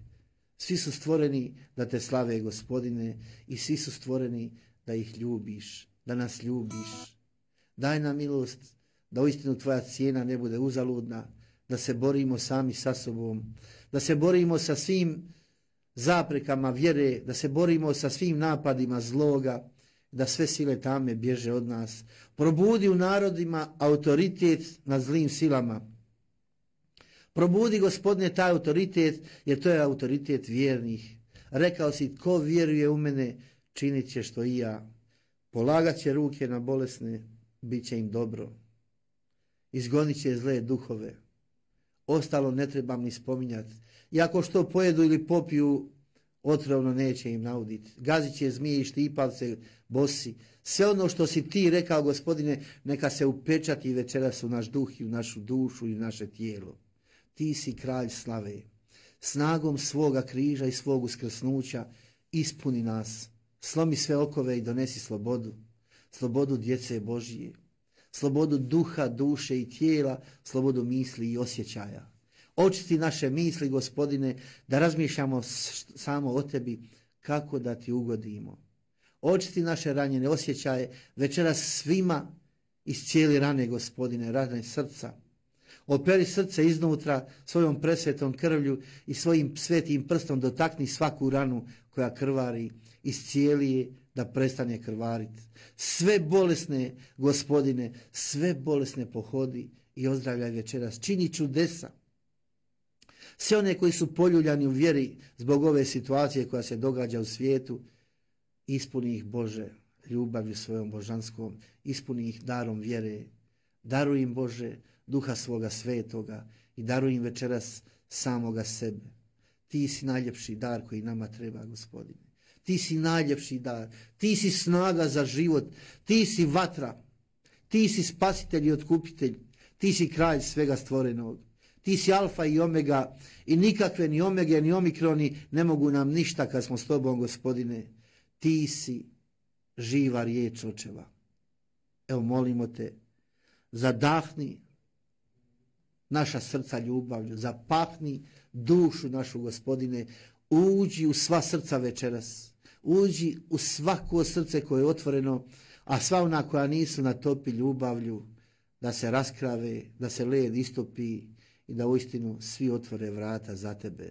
Speaker 3: svi su stvoreni da Te slave, Gospodine, i svi su stvoreni da ih ljubiš, da nas ljubiš. Daj nam milost da uistinu Tvoja cijena ne bude uzaludna, da se borimo sami sa sobom, da se borimo sa svim zaprekama vjere, da se borimo sa svim napadima zloga, da sve sile tame bježe od nas. Probudi u narodima autoritet nad zlim silama. Probudi, Gospodine, taj autoritet, jer to je autoritet vjernih. Rekao si, tko vjeruje u mene, činit će što i ja. Polagat će ruke na bolesne, bit će im dobro. Izgonit će zle duhove. Ostalo ne trebam ni spominjati. I ako što pojedu ili popiju, otrovno neće im nauditi. Gazit će zmije i štipavce bosi. Sve ono što si Ti rekao, Gospodine, neka se upečati večeras u naš duh i u našu dušu i u naše tijelo. Ti si kralj slave. Snagom svoga križa i svog uskrsnuća ispuni nas. Slomi sve okove i donesi slobodu. Slobodu djece Božije. Slobodu duha, duše i tijela, slobodu misli i osjećaja. Očisti naše misli, Gospodine, da razmišljamo samo o Tebi, kako da Ti ugodimo. Očisti naše ranjene osjećaje, večeras svima iscijeli rane, Gospodine, rane srca. Operi srce iznutra svojom presvetom krvlju i svojim svetim prstom dotakni svaku ranu koja krvari, iscijeli je da prestane krvariti. Sve bolesne, Gospodine, sve bolesne pohodi i ozdravljaj večeras. Čini čudesa. Sve one koji su poljuljani u vjeri zbog ove situacije koja se događa u svijetu, ispuni ih, Bože, ljubavlju svojom božanskom, ispuni ih darom vjere. Daruj im, Bože, Duha svoga svetoga i daruj im večeras samoga sebe. Ti si najljepši dar koji nama treba, Gospodine. Ti si najljepši dar, Ti si snaga za život, Ti si vatra, Ti si spasitelj i otkupitelj, Ti si kralj svega stvorenog, Ti si alfa i omega i nikakve ni omege ni omikroni ne mogu nam ništa kad smo s tobom, Gospodine. Ti si živa riječ očeva. Evo molimo te, zadahni naša srca ljubavlju, zapahni dušu našu, Gospodine, uđi u sva srca večeras, uđi u svako srce koje je otvoreno, a sva ona koja nisu natopi ljubavlju, da se raskrave, da se led istopi i da uistinu svi otvore vrata za tebe.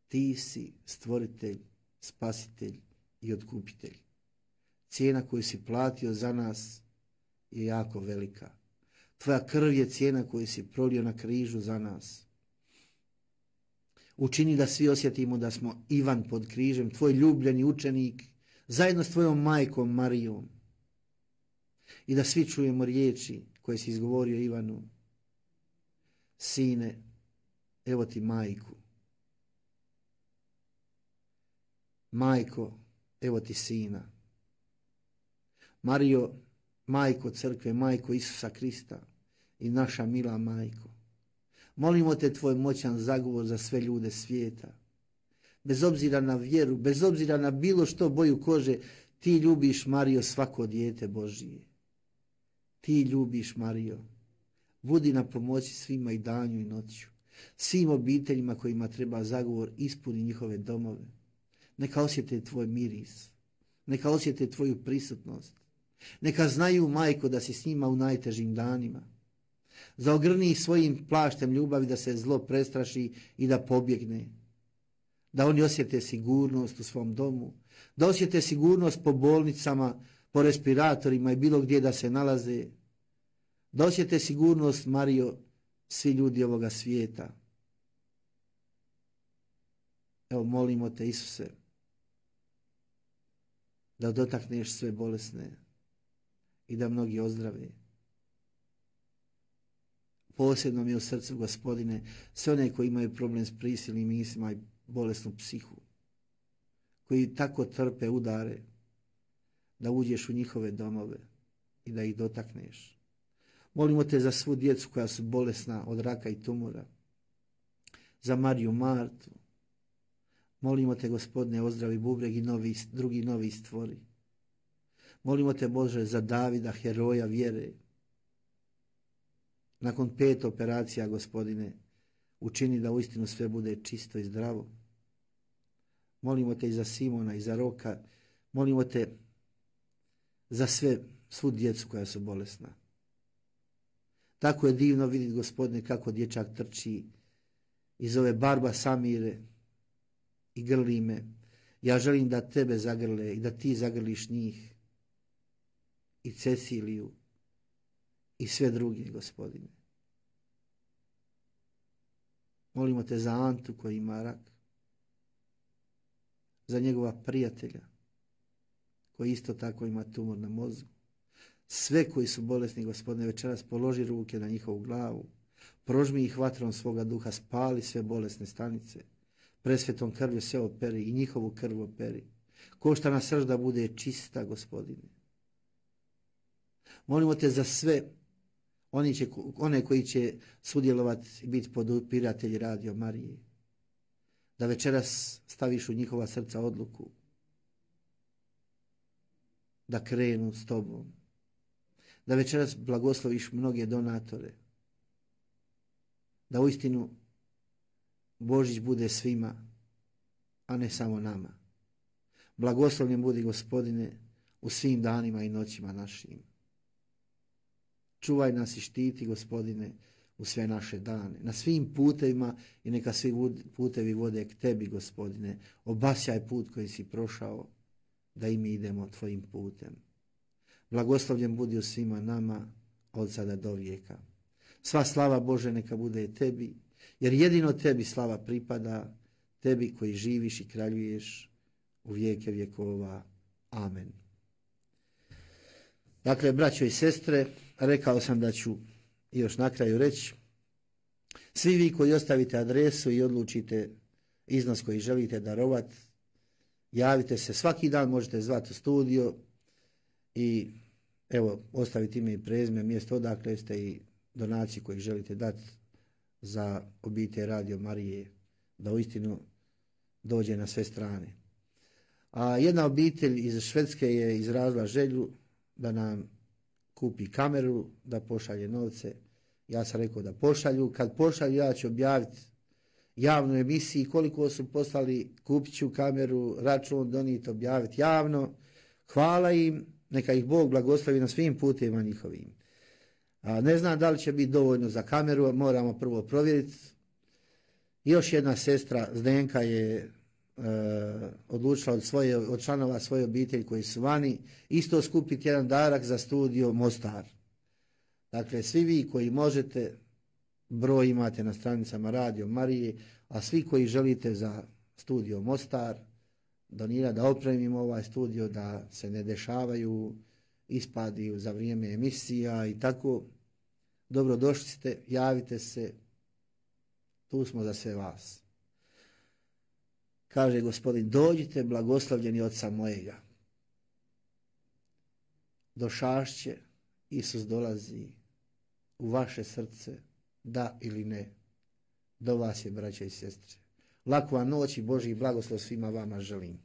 Speaker 3: Ti si stvoritelj, spasitelj i otkupitelj. Cijena koju si platio za nas je jako velika. Tvoja krv je cijena koju si prolio na križu za nas. Učini da svi osjetimo da smo Ivan pod križem, tvoj ljubljeni učenik, zajedno s tvojom majkom Marijom. I da svi čujemo riječi koje si izgovorio Ivanu. Sine, evo ti majku. Majko, evo ti sina. Marijo, majko crkve, majko Isusa Krista i naša mila majko. Molimo te tvoj moćan zagovor za sve ljude svijeta. Bez obzira na vjeru, bez obzira na bilo što boju kože, ti ljubiš, Marijo, svako dijete Božije. Ti ljubiš, Marijo. Budi na pomoći svima i danju i noću. Svim obiteljima kojima treba zagovor, ispuni njihove domove. Neka osjete tvoj miris. Neka osjete tvoju prisutnost. Neka znaju, majko, da si s njima u najtežim danima. Zaogrni ih svojim plaštem ljubavi da se zlo prestraši i da pobjegne. Da oni osjete sigurnost u svom domu. Da osjete sigurnost po bolnicama, po respiratorima i bilo gdje da se nalaze. Da osjete sigurnost, Marijo, svi ljudi ovoga svijeta. Evo molimo te, Isuse, da dotakneš sve bolesne i da mnogi ozdrave. Posebno mi je u srcu, Gospodine, sve one koji imaju problem s prisilnim mislima i bolesnu psihu, koji tako trpe udare, da uđeš u njihove domove i da ih dotakneš. Molimo te za svu djecu koja su bolesna od raka i tumora, za Mariju Martu. Molimo te, Gospodine, ozdravi bubreg i drugi novi stvori. Molimo te, Bože, za Davida, heroja vjere. Nakon 5 operacija, Gospodine, učini da uistinu sve bude čisto i zdravo. Molimo te i za Simona i za Roka. Molimo te za svu djecu koja su bolesna. Tako je divno vidjeti, Gospodine, kako dječak trči iz ove barba Samire i grli me. Ja želim da tebe zagrle i da ti zagrliš njih i Ceciliju i sve druge, Gospodine. Molimo te za Antu koji ima rak, za njegova prijatelja koji isto tako ima tumor na mozgu. Sve koji su bolesni, Gospodine, večeras položi ruke na njihovu glavu, prožmi ih vatrom svoga duha, spali sve bolesne stanice, presvetom krvlju sve operi i njihovu krv operi. Koštana srž da bude čista, Gospodine. Molimo te za sve one koji će sudjelovati i biti podupiratelji Radio Marije, da večeras staviš u njihova srca odluku da krenu s tobom, da večeras blagosloviš mnoge donatore, da uistinu Božić bude svima, a ne samo nama. Blagoslovljen budi, Gospodine, u svim danima i noćima našim. Čuvaj nas i štiti, Gospodine, u sve naše dane, na svim putevima i neka svi putevi vode k tebi, Gospodine. Obasjaj put koji si prošao, da i mi idemo tvojim putem. Blagoslovljen budi u svima nama, od sada do vijeka. Sva slava, Bože, neka bude tebi, jer jedino tebi slava pripada, tebi koji živiš i kraljuješ u vijeke vjekova. Amen. Dakle, braćo i sestre, rekao sam da ću još na kraju reći, svi vi koji ostavite adresu i odlučite iznos koji želite darovati, javite se, svaki dan možete zvati u studio i evo, ostaviti ime i prezime, mjesto odakle ste i donaciju koju želite dati za obitelj Radio Marije, da uistinu dođe na sve strane. A jedna obitelj iz Švedske je izrazila želju da nam kupi kameru, da pošalje novce. Ja sam rekao da pošalju. Kad pošalju, ja ću objaviti javnu emisiju koliko su poslali, kupit ću kameru, račun, donijeti, objaviti javno. Hvala im, neka ih Bog blagoslovi na svim putevima njihovim. Ne znam da li će biti dovoljno za kameru, moramo prvo provjeriti. Još jedna sestra Zdenka je odlučila od članova svoje obitelji koji su vani isto skupiti jedan darak za studio Mostar. Dakle, svi vi koji možete, broj imate na stranicama Radio Marije, a svi koji želite za studio Mostar donirati, da opremimo ovaj studio, da se ne dešavaju ispadi za vrijeme emisija i tako, dobrodošli ste, javite se, tu smo za sve vas. Kaže Gospodin, dođite blagoslovljeni Oca mojega. Došašće, Isus dolazi u vaše srce, da ili ne. Do vas je, braće i sestre. Laku vam noć i Božji blagoslov svima vama želim.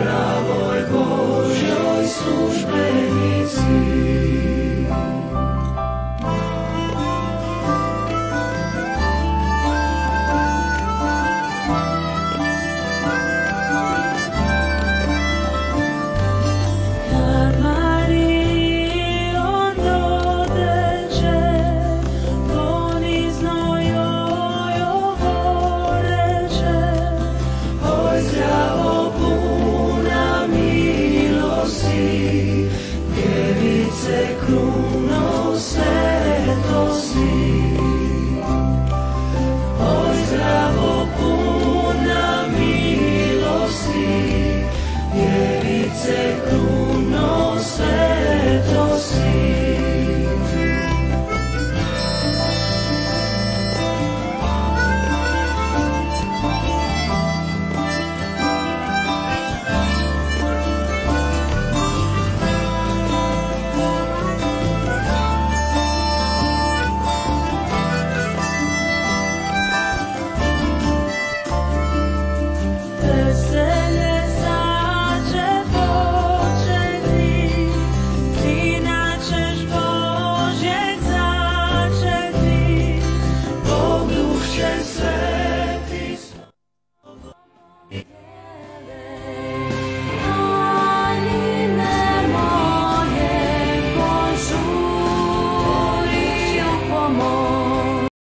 Speaker 7: Pravoj Božjoj službe